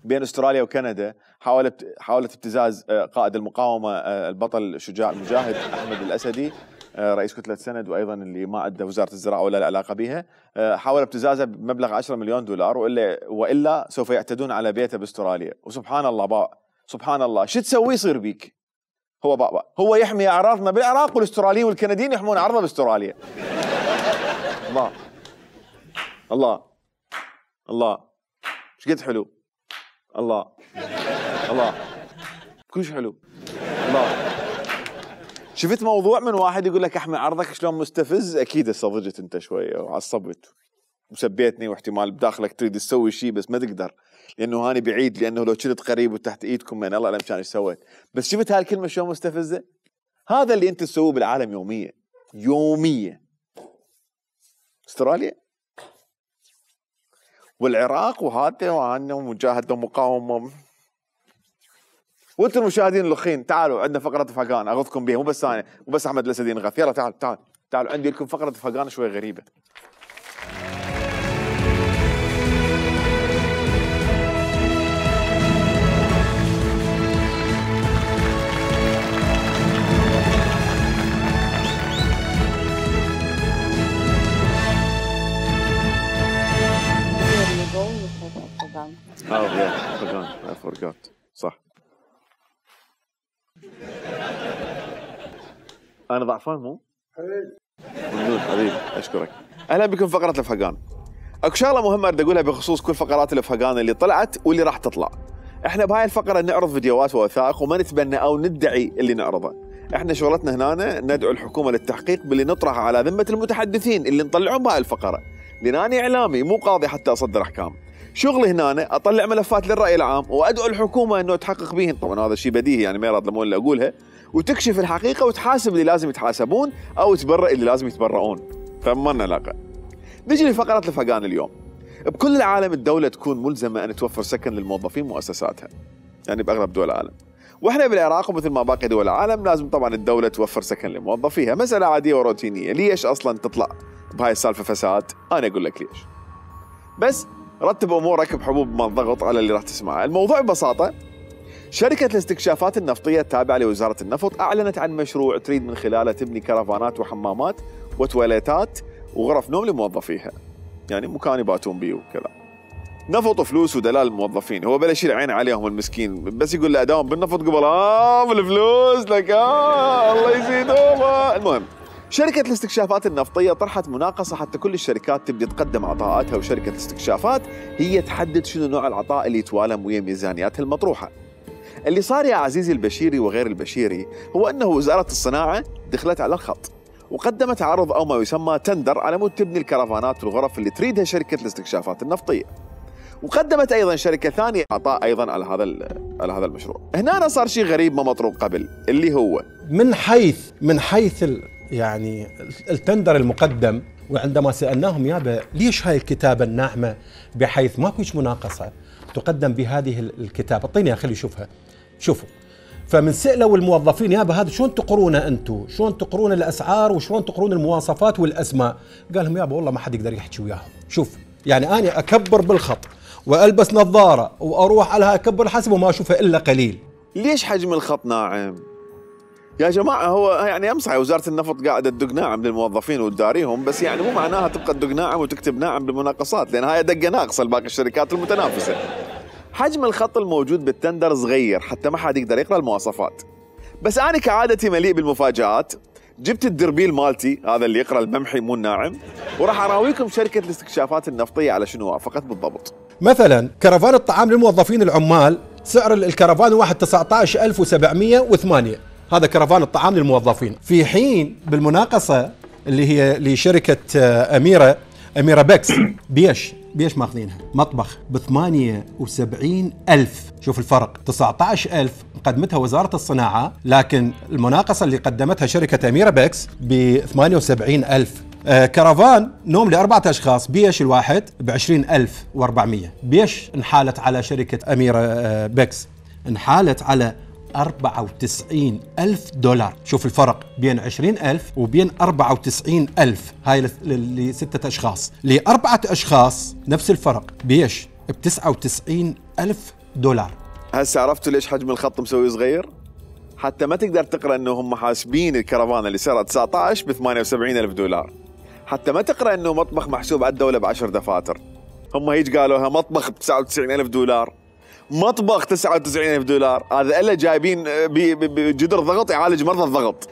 بين استراليا وكندا حاولت ابتزاز قائد المقاومه البطل الشجاع المجاهد احمد الاسدي رئيس كتله سند، وايضا اللي ما عنده وزاره الزراعه ولا علاقه بها، حاول ابتزازه بمبلغ 10 مليون دولار، والا سوف يعتدون على بيته باستراليا. وسبحان الله سبحان الله شو تسوي يصير بيك؟ هو يحمي اعراضنا بالعراق والاستراليين والكنديين يحمون عرضه باستراليا. الله الله الله ايش قد حلو. الله الله كلش حلو. الله شفت موضوع من واحد يقول لك احمي عرضك شلون مستفز، اكيد استضجت انت شويه وعصبت وسبيتني، واحتمال بداخلك تريد تسوي شيء بس ما تقدر لانه هاني بعيد، لانه لو كنت قريب وتحت ايدكم من الله اعلم كان ايش سويت. بس شفت هالكلمه شلون مستفزه؟ هذا اللي انت تسويه بالعالم يوميا. استراليا والعراق وهذا وعنا ومجاهده ومقاومه. وانتم المشاهدين الاخين تعالوا عندنا فقره فقان اخذكم بها، مو بس انا مو بس احمد الاسدي نغث، يلا تعالوا عندي لكم فقره فقان شوي غريبه. فقان I forgot صح. أنا ضعفان مو؟ ممنون حبيبي أشكرك. أهلا بكم فقرة الفقان. أكو شغلة مهمة أريد أقولها بخصوص كل فقرات الفقان اللي طلعت واللي راح تطلع. إحنا بهاي الفقرة نعرض فيديوهات ووثائق وما نتبنى أو ندعي اللي نعرضه. إحنا شغلتنا هنا ندعو الحكومة للتحقيق باللي نطرحه على ذمة المتحدثين اللي نطلعون بهاي الفقرة، لأنني إعلامي مو قاضي حتى أصدر أحكام. شغلي هنا اطلع ملفات للراي العام وادعو الحكومه انه تحقق بيهن، طبعا هذا شيء بديهي يعني ما يراد لمون اللي اقولها، وتكشف الحقيقه وتحاسب اللي لازم يتحاسبون او تبرئ اللي لازم يتبرؤون، فما لنا علاقه. نجي لفقره الفقان اليوم. بكل العالم الدوله تكون ملزمه ان توفر سكن للموظفين مؤسساتها، يعني باغلب دول العالم. واحنا بالعراق ومثل ما باقي دول العالم لازم طبعا الدوله توفر سكن لموظفيها، مساله عاديه وروتينيه. ليش اصلا تطلع بهاي السالفه فساد؟ انا اقول لك ليش. بس رتب امورك بحبوب ما الضغط على اللي راح تسمعه. الموضوع ببساطه شركة الاستكشافات النفطية التابعة لوزارة النفط أعلنت عن مشروع تريد من خلاله تبني كرفانات وحمامات وتواليتات وغرف نوم لموظفيها، يعني مكان يباتون بيه وكذا. نفط فلوس ودلال الموظفين، هو بلا يشيل عين عليهم المسكين، بس يقول له اداوم بالنفط قبل بالفلوس لك الله يزيدهم. المهم شركة الاستكشافات النفطية طرحت مناقصة حتى كل الشركات تبدي تقدم عطاءاتها، وشركة الاستكشافات هي تحدد شنو نوع العطاء اللي يتوالم ويا ميزانياتها المطروحة. اللي صار يا عزيزي البشيري وغير البشيري هو أنه وزارة الصناعة دخلت على الخط وقدمت عرض أو ما يسمى تندر على مود تبني الكرفانات والغرف اللي تريدها شركة الاستكشافات النفطية، وقدمت أيضا شركة ثانية عطاء أيضا على هذا المشروع. هنا صار شيء غريب ما مطروق قبل، اللي هو من حيث يعني التندر المقدم، وعندما سألناهم يابا ليش هاي الكتابة الناعمة بحيث ما فيش مناقصة تقدم بهذه الكتابة، اعطيني خلي يشوفها. شوفوا، فمن سألوا الموظفين يابا هذا شلون تقرونه انتم؟ شلون تقرون الاسعار وشلون تقرون المواصفات والاسماء؟ قال لهم يابا والله ما حد يقدر يحكي وياهم. شوف يعني انا اكبر بالخط والبس نظاره واروح على اكبر الحسب وما اشوفها الا قليل. ليش حجم الخط ناعم؟ يا جماعه هو يعني امس وزاره النفط قاعده تدق ناعم للموظفين وتداريهم، بس يعني مو معناها تبقى تدق ناعم وتكتب ناعم بالمناقصات، لان هاي دقه ناقصه لباقي الشركات المتنافسه. حجم الخط الموجود بالتندر صغير حتى ما حد يقدر يقرا المواصفات، بس انا كعادتي مليء بالمفاجآت، جبت الدربيل مالتي هذا اللي يقرا الممحي مو الناعم، وراح اراويكم شركه الاستكشافات النفطيه على شنو وافقت بالضبط. مثلا كرفان الطعام للموظفين العمال سعر الكرفان واحد 19,708، هذا كرفان الطعام للموظفين، في حين بالمناقصه اللي هي لشركه أميرة بكس بيش ماخذينها مطبخ ب 78,000. شوف الفرق، 19,000 قدمتها وزارة الصناعة، لكن المناقصة اللي قدمتها شركة أميرة بكس ب 78,000. كرفان نوم ل4 أشخاص بيش الواحد ب 20,400. بيش انحالت على شركة أميرة بكس؟ انحالت على 94,000 $. شوف الفرق بين 20,000 وبين 94,000. هاي ل6 أشخاص. ل4 أشخاص نفس الفرق، بيش ب 99,000 $. هسه عرفتوا ليش حجم الخط مسوي صغير؟ حتى ما تقدر تقرأ أنه هم حاسبين الكرفان اللي سعره 19 ب 78,000 $، حتى ما تقرأ أنه مطبخ محسوب على الدولة ب10 دفاتر. هم هيج قالوها مطبخ ب 99,000 $، مطبخ 99,000 $، هذا الا جايبين بجدر ضغط يعالج مرضى الضغط.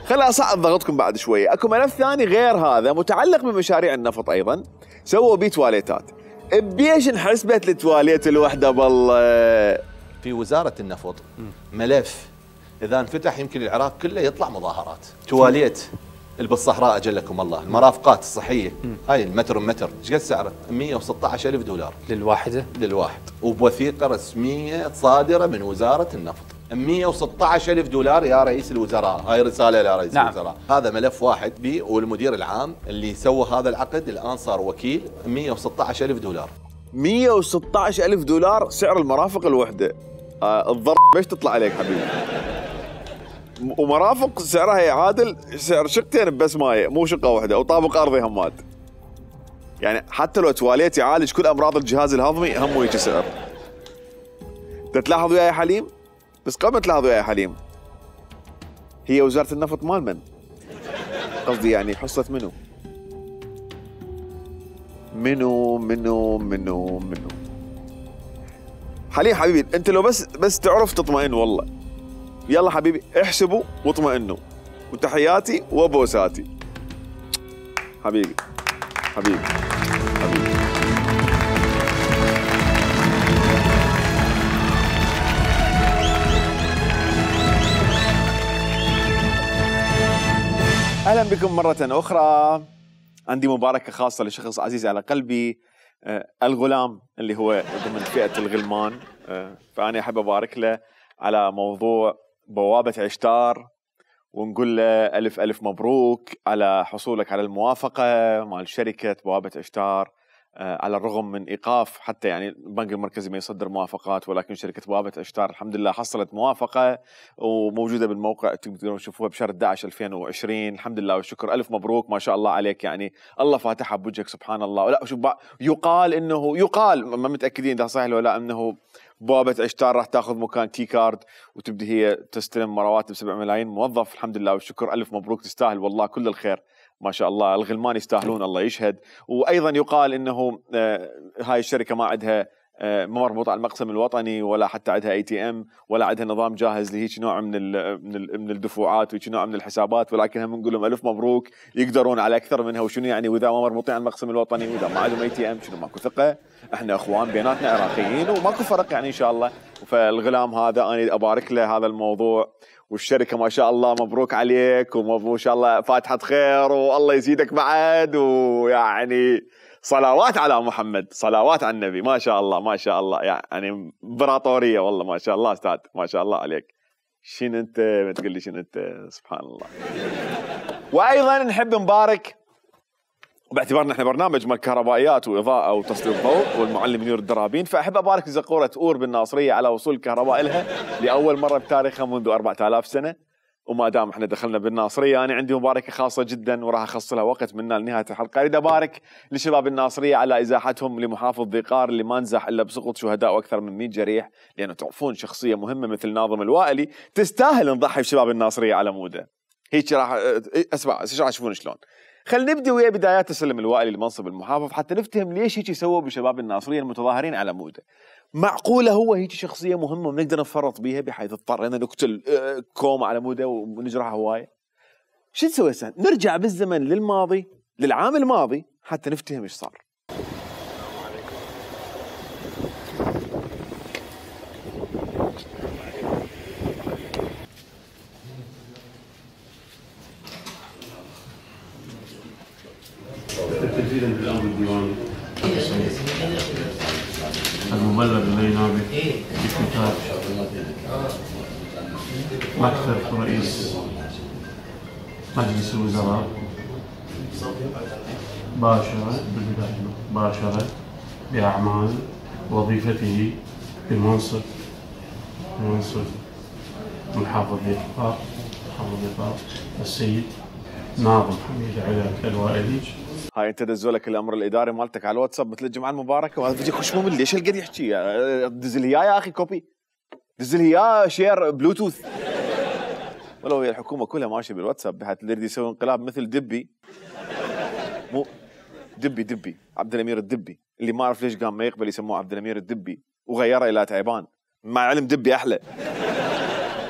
خليني اصعد ضغطكم بعد شويه. اكو ملف ثاني غير هذا متعلق بمشاريع النفط ايضا، سووا بيه تواليتات. بيش انحسبت التواليت الوحده بالله؟ في وزاره النفط ملف اذا انفتح يمكن العراق كله يطلع مظاهرات. تواليت اللي بالصحراء اجلكم الله، المرافقات الصحيه هاي المتر ايش قد سعره؟ 116,000 $. للواحد وبوثيقه رسميه صادره من وزاره النفط. 116,000 $. يا رئيس الوزراء، هاي رساله لرئيس الوزراء. هذا ملف واحد بي، والمدير العام اللي سوى هذا العقد الان صار وكيل. 116,000 $. 116,000 $. سعر المرافق الوحده. الضرب ايش تطلع عليك حبيبي؟ ومرافق سعرها يعادل سعر شقتين بس مايه، مو شقه واحده، او طابق ارضي همات. يعني حتى لو تواليت يعالج كل امراض الجهاز الهضمي هم هيك سعر. تلاحظوا يا حليم؟ بس قبل تلاحظوا يا حليم، هي وزاره النفط مال من؟ قصدي يعني حصه منو؟ منو حليم حبيبي، انت لو بس تعرف تطمئن والله. يلا حبيبي احسبوا واطمئنوا، وتحياتي وبوساتي. حبيبي. اهلا بكم مرة اخرى. عندي مباركة خاصة لشخص عزيز على قلبي، الغلام اللي هو ضمن فئة الغلمان، فأنا أحب أبارك له على موضوع بوابة عشتار، ونقول له ألف مبروك على حصولك على الموافقة مع شركة بوابة عشتار، على الرغم من إيقاف حتى يعني البنك المركزي ما يصدر موافقات، ولكن شركة بوابة عشتار الحمد لله حصلت موافقة وموجودة بالموقع، تقدرون تشوفوها بشهر 11 2020. الحمد لله والشكر، ألف مبروك، ما شاء الله عليك، يعني الله فاتحها بوجهك سبحان الله. ولا شوف، يقال ما متأكدين إذا صحيح ولا لا، أنه بوابه عشتار راح تاخذ مكان تي كارد وتبدي هي تستلم رواتب 7 ملايين موظف. الحمد لله والشكر، الف مبروك، تستاهل والله كل الخير ما شاء الله. الغلمان يستاهلون الله يشهد. وايضا يقال انه هاي الشركه ما عندها ما مربوطه على المقسم الوطني ولا حتى عندها ATM ولا عندها نظام جاهز لهيك نوع من الدفوعات وهيك نوع من الحسابات، ولكن هم نقول لهم الف مبروك، يقدرون على اكثر منها. وشنو يعني واذا ما مربوطين على المقسم الوطني واذا ما عندهم ATM شنو ماكو ثقه؟ احنا اخوان بيناتنا عراقيين وماكو فرق يعني ان شاء الله. فالغلام هذا انا ابارك له هذا الموضوع، والشركه ما شاء الله مبروك عليك وما شاء الله فاتحه خير والله يزيدك بعد. ويعني صلوات على محمد، صلوات على النبي، ما شاء الله ما شاء الله، يعني امبراطوريه والله ما شاء الله استاذ، ما شاء الله عليك. شنو انت ما تقول لي شنو انت، سبحان الله. وايضا نحب نبارك باعتبارنا احنا برنامج مال كهربائيات واضاءه وتسليط ضوء والمعلم منير الدرابين، فاحب ابارك لزقوره اور بالناصريه على وصول الكهرباء لها لاول مره بتاريخها منذ 4000 سنه. وما دام احنا دخلنا بالناصريه انا عندي مباركه خاصه جدا وراح اخص لها وقت منا لنهايه الحلقه. اريد ابارك لشباب الناصريه على ازاحتهم لمحافظ ذيقار اللي ما نزح الا بسقوط شهداء واكثر من 100 جريح، لانه تعرفون شخصيه مهمه مثل ناظم الوائلي تستاهل نضحي بشباب الناصريه على موده. هيك راح اسمع ايش راح تشوفون شلون. خلينا نبدي ويا بدايات تسلم الوائلي لمنصب المحافظ حتى نفتهم ليش هيك يسووا بشباب الناصريه المتظاهرين على موده. معقوله هو هيك شخصيه مهمه ونقدر نفرط بها بحيث اضطرينا نقتل كوم على موده ونجرح هوايه؟ شو نسوي هسه؟ نرجع بالزمن للماضي، للعام الماضي حتى نفتهم ايش صار. التسجيل عند الامر الديواني المبلغ البينابي بكتاب مكتب رئيس مجلس الوزراء باشر بأعمال وظيفته بمنصب محافظ ذيقار السيد ناظم حميد علاء الوائلي. هاي انت دزولك الامر الاداري مالتك على الواتساب مثل الجمعه المباركه وهذا فيديو خش ممل. ليش هالقد يحكي؟ دز لي اياه يا اخي كوبي، دز لي اياه شير بلوتوث. ولو هي الحكومه كلها ماشيه بالواتساب بحيث اللي يريد يسوي انقلاب مثل دبي، مو دبي عبد الامير الدبي اللي ما اعرف ليش قام ما يقبل يسموه عبد الامير الدبي وغيره الى تعبان، مع علم دبي احلى.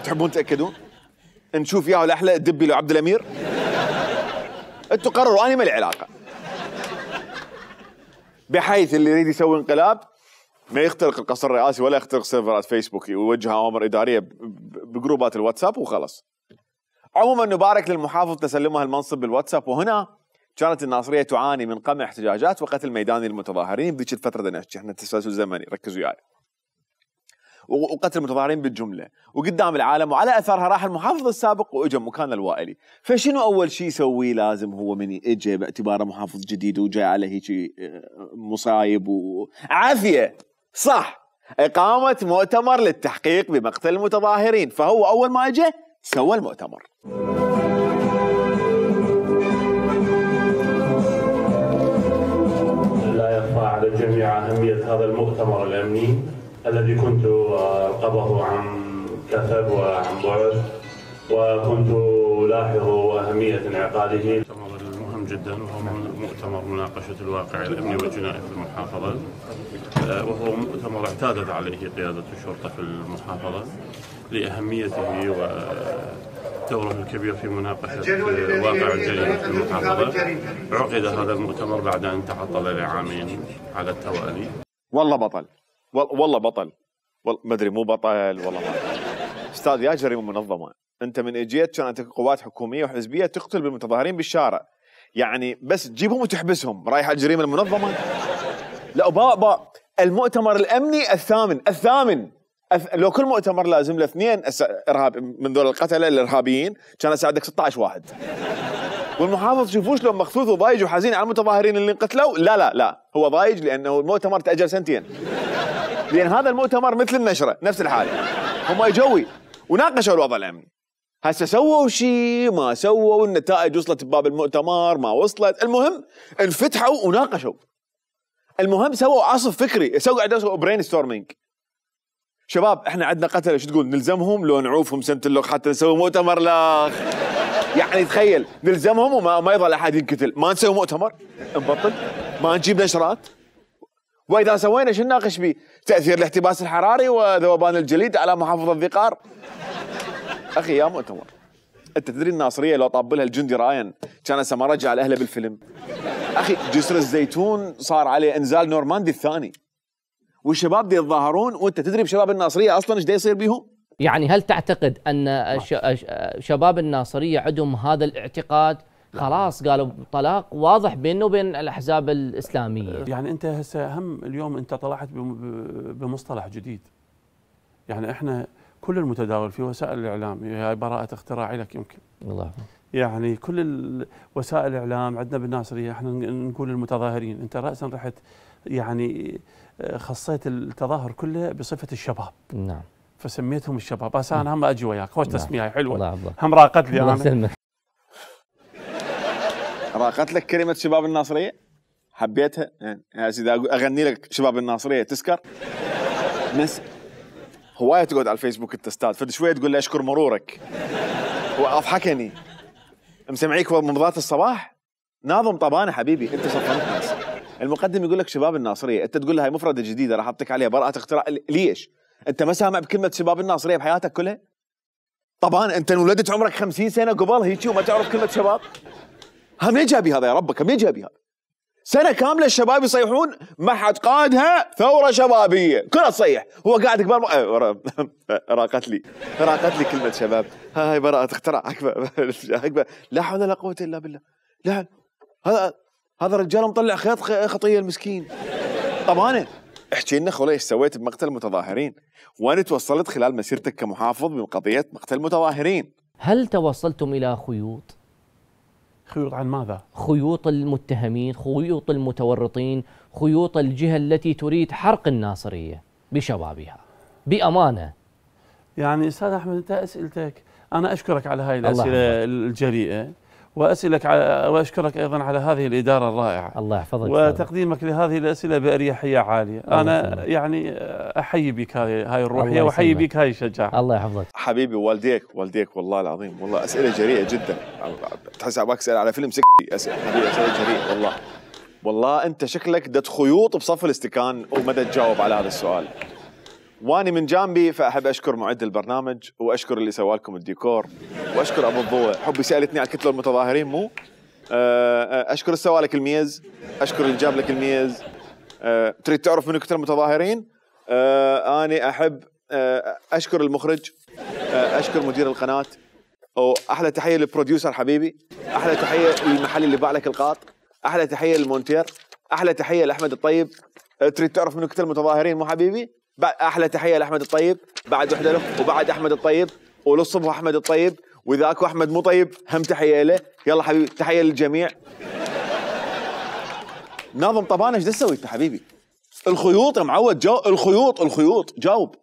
تحبون تاكدون؟ نشوف ياهو الاحلى الدبي لو عبد الامير؟ انتوا قرروا، انا ما لي علاقه. بحيث اللي يريد يسوي انقلاب ما يخترق القصر الرئاسي ولا يخترق سيرفرات فيسبوك ويوجه اوامر اداريه بجروبات الواتساب وخلص. عموما نبارك للمحافظ تسلمها المنصب بالواتساب. وهنا كانت الناصريه تعاني من قمع احتجاجات وقتل ميداني للمتظاهرين بذيك الفتره بدنا نحكي احنا تسلسل زمني ركزوا وياي. وقتل المتظاهرين بالجمله وقدام العالم، وعلى اثرها راح المحافظ السابق واجى مكان الوائلي. فشنو اول شيء يسويه لازم هو من اجى باعتباره محافظ جديد وجاي على هيك مصايب وعافيه صح اقامه مؤتمر للتحقيق بمقتل المتظاهرين. فهو اول ما اجى سوى المؤتمر. لا يخفى على الجميع اهميه هذا المؤتمر الامني الذي كنت أرقبه عن كثب وعن بعد، وكنت ألاحظ أهمية انعقاده. المؤتمر المهم جدا وهو مؤتمر مناقشة الواقع الأمني والجنائي في المحافظة، وهو مؤتمر اعتادت عليه قيادة الشرطة في المحافظة لأهميته ودوره الكبير في مناقشة واقع الجريمة في المحافظة. عقد هذا المؤتمر بعد أن تعطل لعامين على التوالي. والله بطل، والله بطل، ما ادري مو بطل والله ما استاذ يا جريمه منظمه. انت من اجيت كانت قوات حكوميه وحزبيه تقتل بالمتظاهرين بالشارع، يعني بس تجيبهم وتحبسهم رايح على الجريمه المنظمه؟ لا المؤتمر الامني الثامن لو كل مؤتمر لازم له 2 ارهاب من ذول القتله الارهابيين كان ساعدك 16 واحد. والمحافظ شوفوش لو مخثوث وضايج وحزين على المتظاهرين اللي انقتلوا. لا هو ضايج لانه المؤتمر تاجل 2 سنين، لان هذا المؤتمر مثل النشره نفس الحاله. هم اجوا وناقشوا الوضع الامني. هسه سووا شيء ما سووا، النتائج وصلت بباب المؤتمر ما وصلت، المهم انفتحوا وناقشوا. المهم سووا عصف فكري، سووا برين ستورمينج. شباب احنا عندنا قتله، شو تقول نلزمهم لو نعوفهم سنه اللوخ حتى نسوي مؤتمر لاخ؟ يعني تخيل نلزمهم وما يظل احد ينقتل، ما نسوي مؤتمر نبطل، ما نجيب نشرات، واذا سوينا شو نناقش بيه؟ تاثير الاحتباس الحراري وذوبان الجليد على محافظه الذقار. اخي يا مؤتمر، انت تدري الناصريه لو طاب لها الجندي راين كان هسه ما رجع لاهله بالفيلم. اخي جسر الزيتون صار عليه انزال نورماندي الثاني، والشباب دي يتظاهرون، وانت تدري بشباب الناصريه اصلا ايش دا يصير بيهم؟ يعني هل تعتقد ان شباب الناصريه عندهم هذا الاعتقاد؟ خلاص قالوا طلاق واضح بينه وبين الاحزاب الاسلاميه. يعني انت هسه هم اليوم انت طلعت بمصطلح جديد. يعني احنا كل المتداول في وسائل الاعلام هي براءه اختراع لك يمكن. الله. يعني كل وسائل الاعلام عندنا بالناصريه احنا نقول المتظاهرين، انت راسا رحت يعني خصيت التظاهر كله بصفه الشباب. نعم. فسميتهم الشباب، بس انا هم اجي وياك، خوش تسميه حلوه. الله الله. هم راقت لي الله انا. يسلمك. راقت لك كلمه شباب الناصريه؟ حبيتها؟ يعني اذا اغني لك شباب الناصريه تسكر؟ ناس هوايه تقعد على الفيسبوك انت استاذ، فد شويه تقول لي اشكر مرورك. هو اضحكني. مسمعيك ممضات الصباح؟ ناظم طبانه حبيبي، انت صفنت ناس. المقدم يقول لك شباب الناصريه، انت تقول له هاي مفرده جديده راح احطك عليها براءه اختراع، ليش؟ انت ما سامع بكلمه شباب الناصريه بحياتك كلها؟ طبعا انت انولدت عمرك 50 سنه قبل هيك وما تعرف كلمه شباب؟ هم ليه جابي هذا يا ربك؟ هم ليه جابي هذا؟ سنه كامله الشباب يصيحون ما حد قادها ثوره شبابيه، كلها تصيح، هو قاعد قبال راقت لي كلمه شباب، هاي براءه اختراع اكبر. لا حول ولا قوه الا بالله. لا هذا رجال مطلع خيط خطيه المسكين. طبعا احكي لنا خولي ايش سويت بمقتل المتظاهرين؟ وين توصلت خلال مسيرتك كمحافظ بقضيه مقتل المتظاهرين؟ هل توصلتم الى خيوط؟ خيوط عن ماذا؟ خيوط المتهمين، خيوط المتورطين، خيوط الجهه التي تريد حرق الناصريه بشبابها بامانه. يعني استاذ احمد انت اسئلتك، انا اشكرك على هاي الاسئله الجريئه، واشكرك ايضا على هذه الاداره الرائعه. الله يحفظك. وتقديمك لهذه الاسئله باريحيه عاليه، انا يعني احيي بك هاي الروحيه واحيي بك هاي الشجاعه. الله يحفظك. حبيبي والديك والله العظيم، والله اسئله جريئه جدا، تحس عباك اسال على فيلم اسئله حبيبي، اسئله جريئه والله انت شكلك دت خيوط بصف الاستكان ومدى تجاوب على هذا السؤال. واني من جانبي فاحب اشكر معد البرنامج، واشكر اللي سوى لكم الديكور، واشكر ابو الضوء. حبي سالتني على الكتله المتظاهرين مو؟ اشكر اللي سوى لك الميز، اشكر اللي جاب لك الميز. تريد تعرف من كتله المتظاهرين؟ اني احب اشكر المخرج، اشكر مدير القناه، واحلى تحيه للبروديوسر حبيبي، احلى تحيه للمحل اللي باع لك القاط، احلى تحيه للمونتير، احلى تحيه لاحمد الطيب. تريد تعرف من كتله المتظاهرين مو حبيبي؟ احلى تحيه لاحمد الطيب، بعد وحده له، وبعد احمد الطيب، وللصبح احمد الطيب، وذاك احمد مو طيب هم تحيه له. يلا حبيبي تحيه للجميع. ناظم طبانه ايش تسوي انت حبيبي؟ الخيوط يا معود، الخيوط جاوب.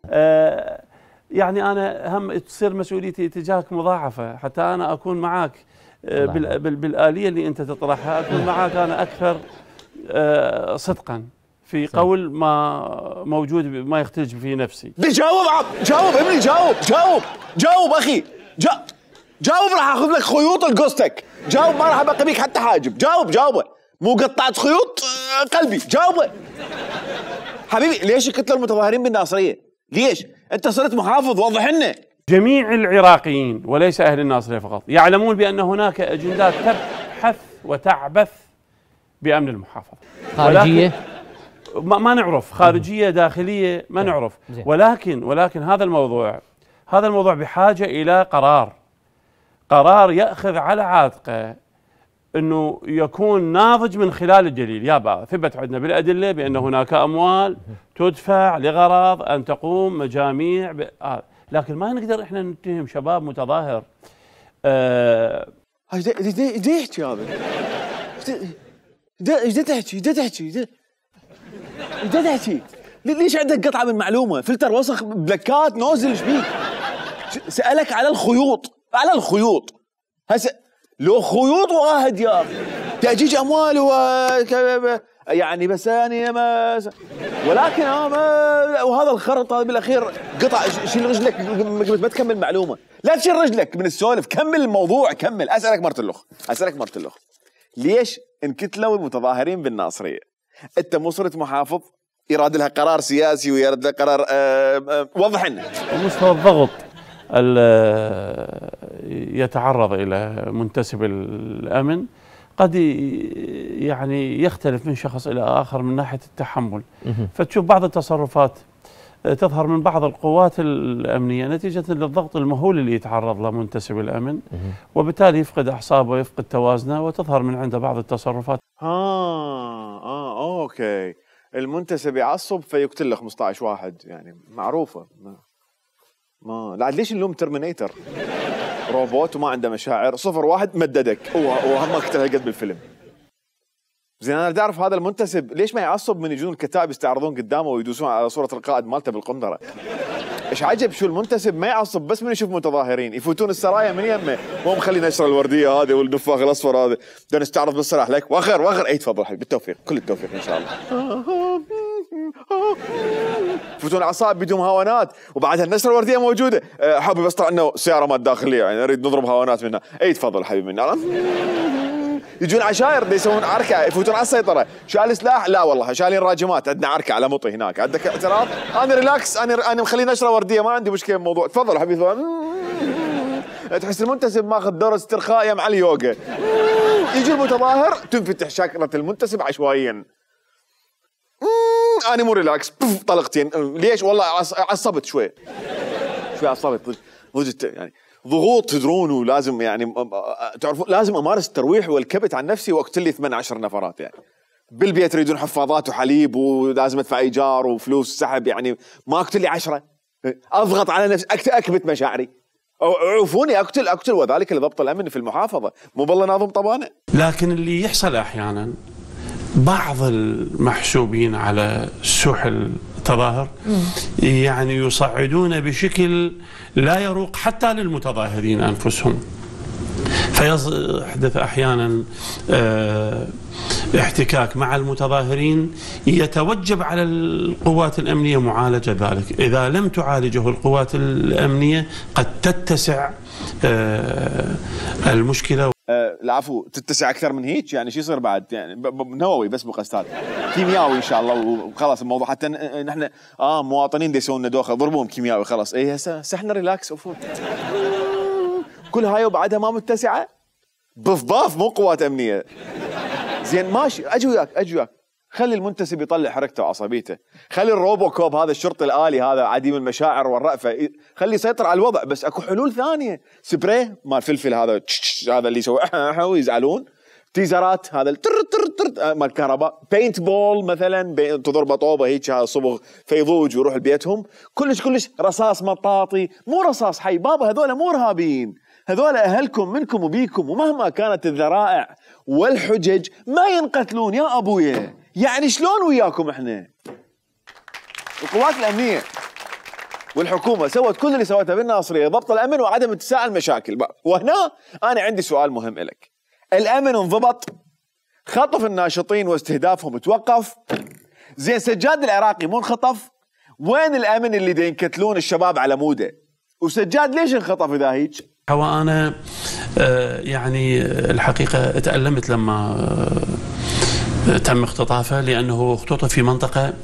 يعني انا هم تصير مسؤوليتي تجاهك مضاعفه، حتى انا اكون معك بالآلية اللي انت تطرحها، اكون معك انا اكثر صدقا في قول ما موجود ما يختلج في نفسي. جاوب ابني، جاوب اخي، جاوب راح اخذ لك خيوط لقصتك، جاوب ما راح ابقى بيك حتى حاجب، جاوبه مو قطعة خيوط قلبي، جاوبه حبيبي. ليش الكتله المتظاهرين بالناصريه؟ ليش؟ انت صرت محافظ، وضح لنا. جميع العراقيين وليس اهل الناصريه فقط يعلمون بان هناك اجندات تبحث وتعبث بامن المحافظه. خارجيه؟ ما نعرف، خارجيه داخليه ما نعرف، ولكن هذا الموضوع بحاجه الى قرار ياخذ على عاتقه انه يكون ناضج من خلال الدليل. يابا ثبت عندنا بالادله بان هناك اموال تدفع لغرض ان تقوم مجاميع لكن ما نقدر احنا نتهم شباب متظاهر. ايش يحكي هذا؟ ايش تحكي؟ ليش عندك قطعه من معلومه؟ فلتر وسخ، بلكات، نوزل، ايش بيك؟ سالك على الخيوط هسه لو خيوط واحد يا اخي تأجيج اموال يعني بس يعني ما ولكن ما وهذا الخرط هذا بالاخير قطع. شيل رجلك قبل ما تكمل معلومه، لا تشيل رجلك من السولف، كمل الموضوع كمل. اسالك مرة الاخ ليش انكتلوا المتظاهرين بالناصريه؟ انت مو صرت محافظ يراد لها قرار سياسي ويراد لها قرار وضح لنا. مستوى الضغط يتعرض الى منتسب الامن قد يعني يختلف من شخص الى اخر من ناحيه التحمل، فتشوف بعض التصرفات تظهر من بعض القوات الامنيه نتيجه للضغط المهول اللي يتعرض له منتسب الامن، وبالتالي يفقد اعصابه ويفقد توازنه وتظهر من عنده بعض التصرفات. اوكي، المنتسب يعصب فيقتل له 15 واحد، يعني معروفه. ما لا ليش نلوم ترمينيتر؟ روبوت وما عنده مشاعر، 0-1 مددك وهم ما قتل هالقد بالفيلم. زين انا بدي اعرف هذا المنتسب ليش ما يعصب من يجون الكتائب يستعرضون قدامه ويدوسون على صوره القائد مالته بالقنطره؟ ايش عجب شو المنتسب ما يعصب بس من يشوف متظاهرين يفوتون السرايا من يمه، مو مخلي نشر الورديه هذه والنفاخ الاصفر هذا، بدنا نستعرض بالصراحه لك وخر اي تفضل حبيبي، بالتوفيق، كل التوفيق ان شاء الله. يفوتون عصائب بدون هوانات وبعدها النشر الورديه موجوده، حابب بس طلع انه سياره ما داخليه يعني نريد نضرب هوانات منها، اي تفضل حبيبي منا. يجون عشاير يسوون عركه يفوتون على السيطره، شال سلاح؟ لا والله شالين راجمات، عندنا عركه على مطي هناك، عندك اعتراض؟ انا ريلاكس، انا مخلي نشره ورديه ما عندي مشكله بالموضوع، تفضل حبيبي. تحس المنتسب ماخذ دور استرخاء مع اليوغا. يجي المتظاهر تنفتح شاكره المنتسب عشوائيا. انا مو ريلاكس، طلقتين. ليش؟ والله عصبت شوي عصبت وجدت يعني ضغوط تدرون، ولازم يعني تعرفون لازم امارس الترويح والكبت عن نفسي واقتل لي 18 نفرات يعني. بالبيت يريدون حفاضات وحليب ولازم ادفع ايجار وفلوس سحب، يعني ما اقتل لي 10، اضغط على نفسي اكبت مشاعري. عوفوني اقتل وذلك لضبط الامن في المحافظه، مو بالله ناظم طبانه. لكن اللي يحصل احيانا بعض المحسوبين على سوح التظاهر يعني يصعدون بشكل لا يروق حتى للمتظاهرين انفسهم، فيحدث احيانا احتكاك مع المتظاهرين، يتوجب على القوات الامنيه معالجه ذلك، اذا لم تعالجه القوات الامنيه قد تتسع المشكله. العفو، تتسع اكثر من هيك يعني شو يصير بعد؟ يعني نووي بس بقصتات كيميائي ان شاء الله وخلاص الموضوع، حتى نحن مواطنين دي يسوون دوخه ضربوهم كيميائي خلاص. اي هسه احنا ريلاكس وفوت. كل هاي وبعدها ما متسعه؟ باف مو قوات امنيه. زين ماشي، اجي وياك خلي المنتسب يطلع حركته وعصبيته، خلي الروبو كوب هذا الشرطي الآلي هذا عديم المشاعر والرأفة خلي يسيطر على الوضع، بس اكو حلول ثانية. سبراي مال فلفل هذا هذا اللي يسوي ويزعلون، تيزرات هذا مال كهرباء، بينت بول مثلا تضربه طوبه هيك صبغ فيضوج ويروح لبيتهم. كلش رصاص مطاطي، مو رصاص حي بابا، هذول مو ارهابيين، هذول اهلكم منكم وبيكم، ومهما كانت الذرائع والحجج ما ينقتلون يا ابويا. يعني شلون وياكم احنا؟ القوات الامنيه والحكومه سوت كل اللي سوته بالناصريه، ضبط الامن وعدم اتساع المشاكل. وهنا انا عندي سؤال مهم لك. الامن انضبط، خطف الناشطين واستهدافهم توقف، زين سجاد العراقي مو انخطف؟ وين الامن اللي دا ينكتلون الشباب على موده؟ وسجاد ليش انخطف اذا هيك؟ هو انا يعني الحقيقه تألمت لما تم اختطافه، لأنه اختطف في منطقة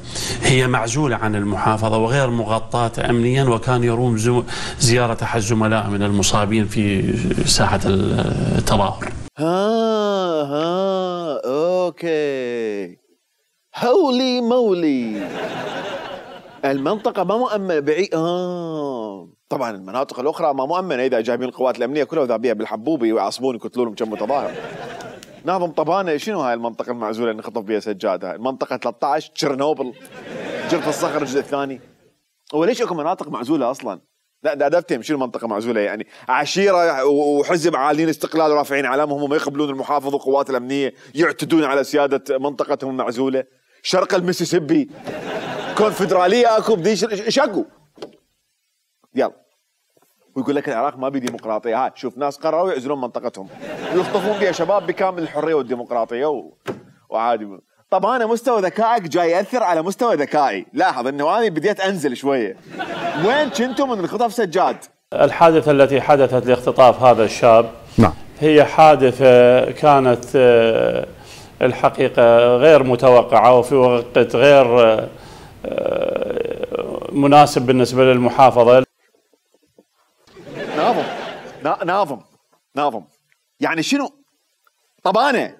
هي معزولة عن المحافظة وغير مغطاة أمنيا، وكان يروم زيارة أحد الزملاء من المصابين في ساحة التظاهر. أوكي، هولي مولي، المنطقة ما مؤمنة بعيد. طبعا المناطق الأخرى ما مؤمنة، إذا جايبين القوات الأمنية كلها وذابيها بالحبوبي ويعصبون يقتلونهم كم متظاهر. ناظم طبانة شنو هاي المنطقة المعزولة اللي انخطف بها سجاد؟ هاي المنطقة 13 تشيرنوبل، جرف الصخر الجزء الثاني. وليش اكو مناطق معزولة أصلا؟ لا ده أدفتهم شنو منطقة معزولة يعني؟ عشيرة وحزب عالين استقلال ورافعين علامهم وما يقبلون المحافظ والقوات الأمنية يعتدون على سيادة منطقتهم المعزولة. شرق المسيسيبي كونفدرالية اكو بديش شكو. يلا ويقول لك العراق ما بي ديمقراطيه، هاي شوف ناس قرروا يعزلون منطقتهم ويخطفون بها شباب بكامل الحريه والديمقراطيه وعادي. طب انا مستوى ذكائك جاي ياثر على مستوى ذكائي، لاحظ انه انا بديت انزل شويه. وين كنتم من اختطاف سجاد؟ الحادثه التي حدثت لاختطاف هذا الشاب نعم هي حادثه كانت الحقيقه غير متوقعه وفي وقت غير مناسب بالنسبه للمحافظه. ناظم يعني شنو؟ طب انا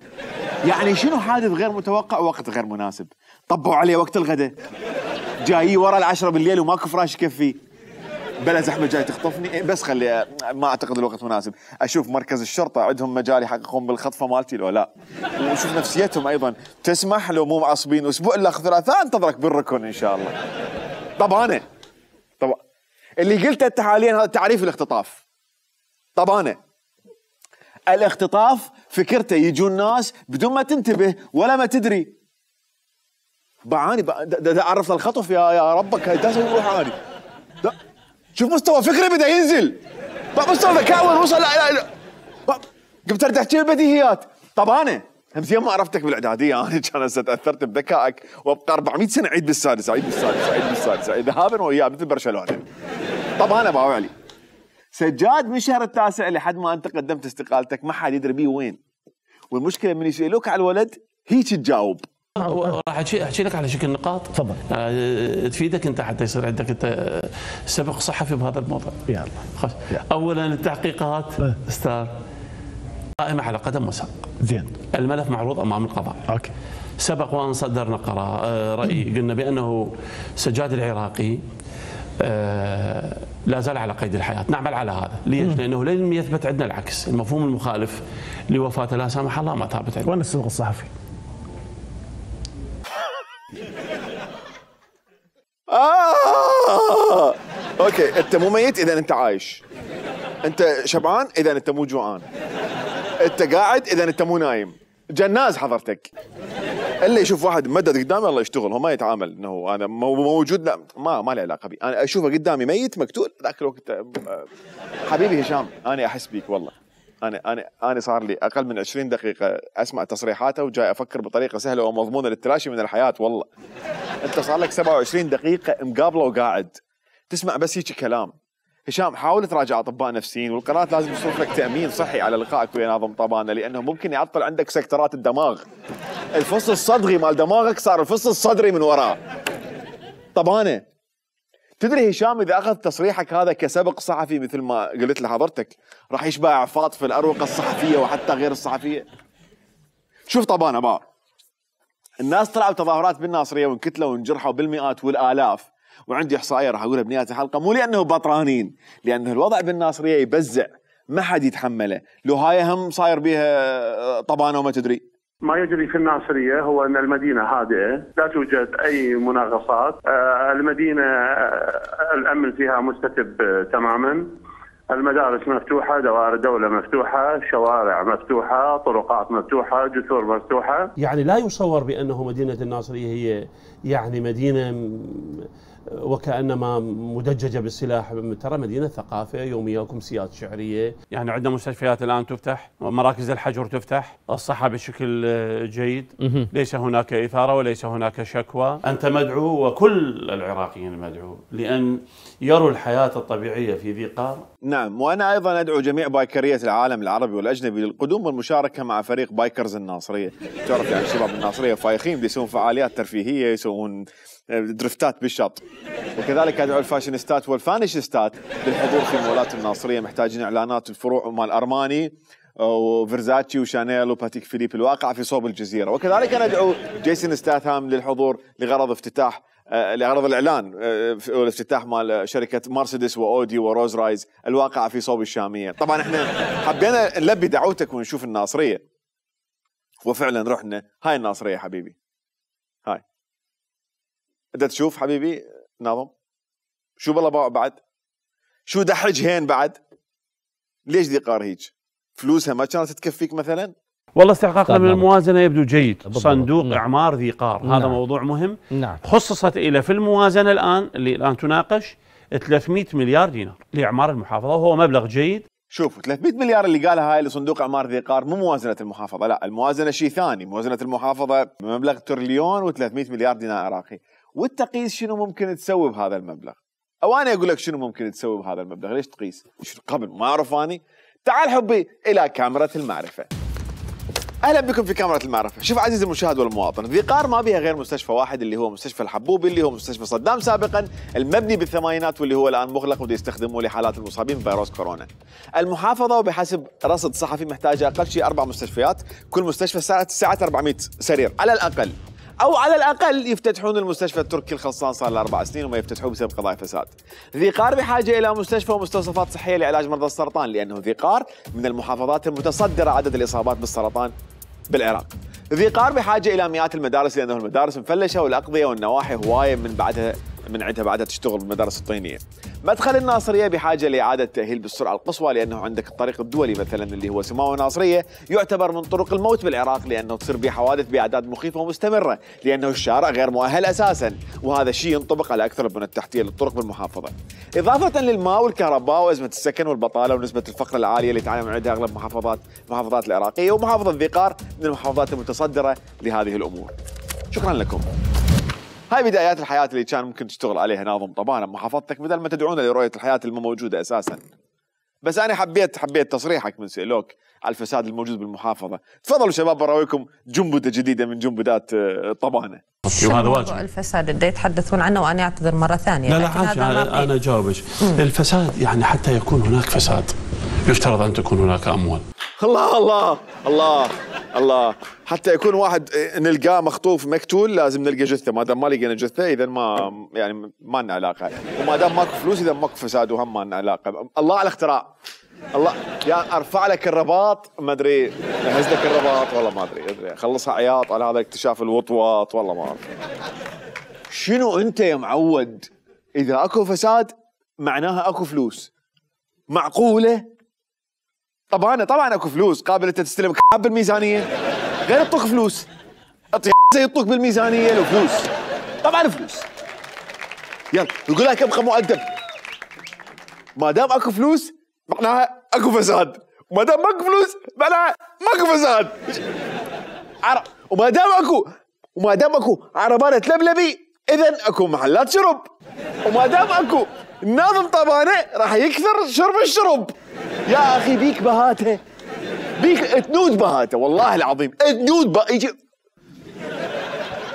يعني شنو حادث غير متوقع ووقت غير مناسب؟ طبوا عليه وقت الغداء، جاي ورا العشرة بالليل وماكو فراش يكفي، بلا زحمه جاي تخطفني، بس خلي ما اعتقد الوقت مناسب. اشوف مركز الشرطه عندهم مجال يحققون بالخطفه مالتي لو لا، وشوف نفسيتهم ايضا تسمح لو مو معصبين اسبوع الا ثلاثاء انتظرك بالركن ان شاء الله. طب انا اللي قلته انت حاليا هذا تعريف الاختطاف. طب انا الاختطاف فكرته يجون ناس بدون ما تنتبه ولا ما تدري. بعاني عرفت الخطف يا ربك هاي اسوي روحاني. شوف مستوى فكري بدا ينزل، مستوى ذكاء وين وصل. لا قمت ارد احكي البديهيات. طب انا همزين ما عرفتك بالاعداديه، انا كان تاثرت بذكائك وابقى 400 سنه اعيد بالسادس ذهابا واياب مثل برشلونه. طب انا باوعلي سجاد من الشهر التاسع لحد ما انت قدمت استقالتك ما حد يدري بيه وين، والمشكله من يسالوك على الولد هيك تجاوب. راح احكي لك على شكل نقاط تفضل تفيدك انت حتى يصير عندك انت سبق صحفي بهذا الموضوع. يلا اولا التحقيقات استاذ قائمه على قدم وساق. زين. الملف معروض امام القضاء. اوكي. سبق وان صدرنا راي قلنا بانه سجاد العراقي لا زال على قيد الحياة. نعمل على هذا. ليش؟ لأنه لن يثبت عندنا العكس، المفهوم المخالف لوفاته لا سامح الله ما ثابت عندنا. وين السبق الصحفي؟ اوكي، انت مو ميت اذا انت عايش، انت شبعان اذا انت مو جوعان، انت قاعد اذا انت مو نايم، جناز حضرتك. اللي يشوف واحد مدد قدامي الله يشتغل، هو ما يتعامل انه انا موجود، لا ما له علاقه بي. انا اشوفه قدامي ميت مقتول ذاك الوقت. حبيبي هشام انا احس بيك والله. انا صار لي اقل من 20 دقيقه اسمع تصريحاته وجاي افكر بطريقه سهله ومضمونه للتلاشي من الحياه والله. انت صار لك 27 دقيقه مقابله وقاعد تسمع بس هيك كلام. هشام حاول تراجع اطباء نفسيين، والقناه لازم تصرف لك تامين صحي على لقائك ويا ناظم طبانه، لانه ممكن يعطل عندك سكترات الدماغ. الفص الصدغي مال دماغك صار الفص الصدري من وراه. طبانه تدري هشام اذا اخذ تصريحك هذا كسبق صحفي مثل ما قلت لحضرتك راح يشبع عفاط في الاروقه الصحفيه وحتى غير الصحفيه. شوف طبانه بقى، الناس طلعوا تظاهرات بالناصريه وانكتلوا وانجرحوا بالمئات والالاف، وعندي احصائيه راح اقولها بنهايه الحلقه، مو لانه بطرانين، لانه الوضع بالناصريه يبزع ما حد يتحمله. لو هاي هم صاير بيها طبانه وما تدري. ما يجري في الناصرية هو أن المدينة هادئة، لا توجد أي مناغصات، المدينة الأمن فيها مستتب تماما، المدارس مفتوحة، دوائر الدولة مفتوحة، شوارع مفتوحة، طرقات مفتوحة، جسور مفتوحة. يعني لا يصور بأنه مدينة الناصرية هي يعني مدينة وكأنما مدججة بالسلاح، ترى مدينة ثقافة يومية، وكمسيات شعرية، يعني عندنا مستشفيات الآن تفتح، مراكز الحجر تفتح، الصحة بشكل جيد، ليس هناك إثارة وليس هناك شكوى. أنت مدعو وكل العراقيين مدعو لأن يروا الحياة الطبيعية في ذي قار. نعم، وأنا أيضا أدعو جميع بايكرية العالم العربي والأجنبي للقدوم والمشاركة مع فريق بايكرز الناصرية. تعرف يعني الشباب الناصرية فايخين، يسوون فعاليات ترفيهية، يسوون درفتات بالشط. وكذلك ادعو الفاشينيستات والفانيشستات للحضور في مولات الناصريه، محتاجين اعلانات الفروع مال ارماني وفيرزاتشي وشانيل وباتيك فيليب الواقع في صوب الجزيره. وكذلك انا ادعو جيسون ستاثام للحضور لغرض افتتاح لغرض الاعلان والافتتاح مال شركه مرسيدس واودي وروز رايز الواقعه في صوب الشاميه. طبعا احنا حبينا نلبي دعوتك ونشوف الناصريه، وفعلا رحنا. هاي الناصريه حبيبي، هاي انت تشوف حبيبي ناظم شو بالله بعد، شو دحج هين بعد، ليش ذي قار هيك؟ فلوسها ما كانت تكفيك مثلا؟ والله استحقاقنا من الموازنه يبدو جيد. صندوق اعمار ذي قار هذا موضوع مهم. خصصت الى في الموازنه الان اللي الان تناقش 300 مليار دينار لاعمار المحافظه، وهو مبلغ جيد. شوفوا 300 مليار اللي قالها هاي لصندوق اعمار ذي قار مو موازنه المحافظه، لا الموازنه شيء ثاني، موازنه المحافظه بمبلغ تريليون و300 مليار دينار عراقي، والتقيس شنو ممكن تسوي بهذا المبلغ؟ او انا اقول لك شنو ممكن تسوي بهذا المبلغ، ليش تقيس؟ قبل ما اعرف اني. تعال حبي الى كاميرا المعرفه. اهلا بكم في كاميرا المعرفه. شوف عزيزي المشاهد والمواطن، ذي قار ما بها غير مستشفى واحد اللي هو مستشفى الحبوبي، اللي هو مستشفى صدام سابقا، المبني بالثمانينات واللي هو الان مغلق وبده يستخدموه لحالات المصابين بفيروس كورونا. المحافظه وبحسب رصد صحفي محتاجه اقل شيء 4 مستشفيات، كل مستشفى ساعه 400 سرير على الاقل. او على الاقل يفتتحون المستشفى التركي الخلصان صار له 4 سنين وما يفتتحوه بسبب قضايا فساد. ذي قار بحاجه الى مستشفى ومستوصفات صحيه لعلاج مرضى السرطان، لانه ذي قار من المحافظات المتصدره عدد الاصابات بالسرطان بالعراق. ذي قار بحاجه الى مئات المدارس، لانه المدارس مفلشه والاقضيه والنواحي هوايه من عندها بعدها تشتغل بالمدارس الطينيه. مدخل الناصريه بحاجه لاعاده تاهيل بالسرعه القصوى، لانه عندك الطريق الدولي مثلا اللي هو سماوه ناصريه يعتبر من طرق الموت بالعراق، لانه تصير به حوادث باعداد مخيفه ومستمره، لانه الشارع غير مؤهل اساسا، وهذا الشيء ينطبق على اكثر البنى التحتيه للطرق بالمحافظه. اضافه للماء والكهرباء وازمه السكن والبطاله ونسبه الفقر العاليه اللي تعاني من عندها اغلب المحافظات العراقيه، ومحافظه ذي قار من المحافظات المتصدره لهذه الامور. شكرا لكم. هاي بدايات الحياة اللي كان ممكن تشتغل عليها ناظم طبعا محافظتك، بدل ما تدعونا لرؤية الحياة اللي مو موجودة أساسا. بس أنا حبيت تصريحك من سئلوك على الفساد الموجود بالمحافظة. تفضلوا شباب براويكم جنبدة جديدة من جنبدات طبانة. وهذا واجب. الفساد اللي يتحدثون عنه وأنا أعتذر مرة ثانية. لا أنا أجاوبك. الفساد يعني حتى يكون هناك فساد يفترض أن تكون هناك أموال. الله الله الله الله، حتى يكون واحد نلقاه مخطوف مقتول لازم نلقى جثه، ما دام ما لقينا جثه اذا ما لنا علاقه، وما دام ماكو فلوس اذا ماكو فساد وهم ما لنا علاقه. الله على الاختراع. الله يا ارفع لك الرباط ما ادري، اهز لك الرباط والله ما ادري، خلصها عياط على هذا اكتشاف الوطواط والله ما اعرف. شنو انت يا معود؟ اذا اكو فساد معناها اكو فلوس. معقوله؟ طبعا اكو فلوس، قابل انت تستلم بالميزانيه غير يعطوك فلوس، يعطوك بالميزانيه له فلوس، طبعا فلوس. يلا يقول لك ابقى مؤدب. ما دام اكو فلوس معناها اكو فساد، وما دام ماكو فلوس معناها ماكو فساد. وما دام اكو عربانه لبلبي اذا اكو محلات شرب، وما دام اكو الناظم طبانه راح يكثر شرب الشرب. يا اخي بيك بهاته، بيك تنود بهاته والله العظيم تنود يجي.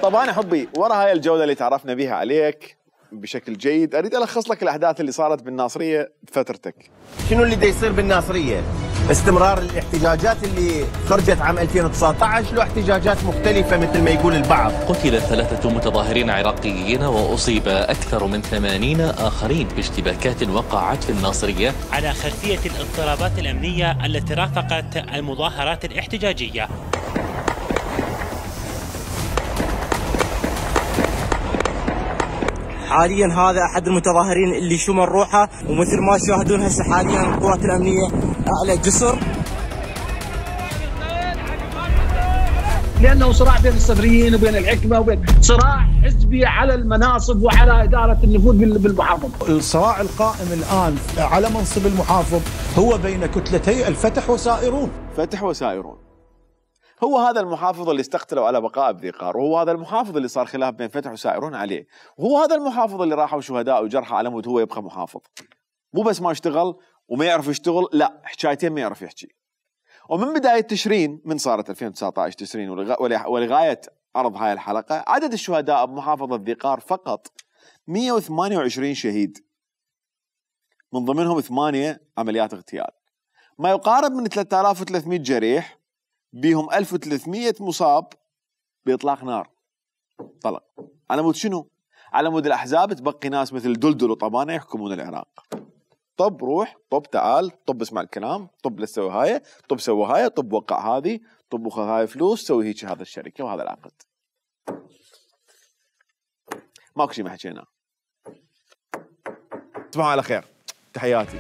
طبعا حبي ورا هاي الجوله اللي تعرفنا بها عليك بشكل جيد، اريد الخص لك الاحداث اللي صارت بالناصريه بفترتك. شنو اللي دا يصير بالناصريه؟ استمرار الاحتجاجات اللي خرجت عام 2019 له احتجاجات مختلفه مثل ما يقول البعض. قتل 3 متظاهرين عراقيين واصيب اكثر من 80 اخرين باشتباكات وقعت في الناصريه على خلفيه الاضطرابات الامنيه التي رافقت المظاهرات الاحتجاجيه. حاليا هذا احد المتظاهرين اللي شمل روحه، ومثل ما تشاهدون هسه حاليا القوات الامنيه اعلى جسر، لانه صراع بين الصدريين وبين الحكمه وبين صراع حزبي على المناصب وعلى اداره النفوذ بالمحافظه. الصراع القائم الان على منصب المحافظ هو بين كتلتي الفتح وسائرون. فتح وسائرون. هو هذا المحافظ اللي استقتلوا على بقاء بذي قار، وهو هذا المحافظ اللي صار خلاف بين فتح وسائرون عليه، وهو هذا المحافظ اللي راحوا شهداء وجرحى على مود هو يبقى محافظ. مو بس ما اشتغل وما يعرف يشتغل، لا حكايتين ما يعرف يحكي. ومن بداية تشرين من صارت 2019 تشرين ولغاية عرض هاي الحلقة، عدد الشهداء بمحافظة ذي قار فقط 128 شهيد، من ضمنهم 8 عمليات اغتيال، ما يقارب من 3300 جريح، بيهم 1300 مصاب بإطلاق نار طلق. على مود شنو؟ على مود الأحزاب تبقي ناس مثل دلدل وطبانة يحكمون العراق. طب روح، طب تعال، طب اسمع الكلام، طب لا تسوي هاي، طب سوي هاي، طب وقع هذه، طب وخذ هاي فلوس، سوي هيك هذا الشركة وهذا العقد. ماكو شيء ما حكيناه. تصبحوا على خير. تحياتي.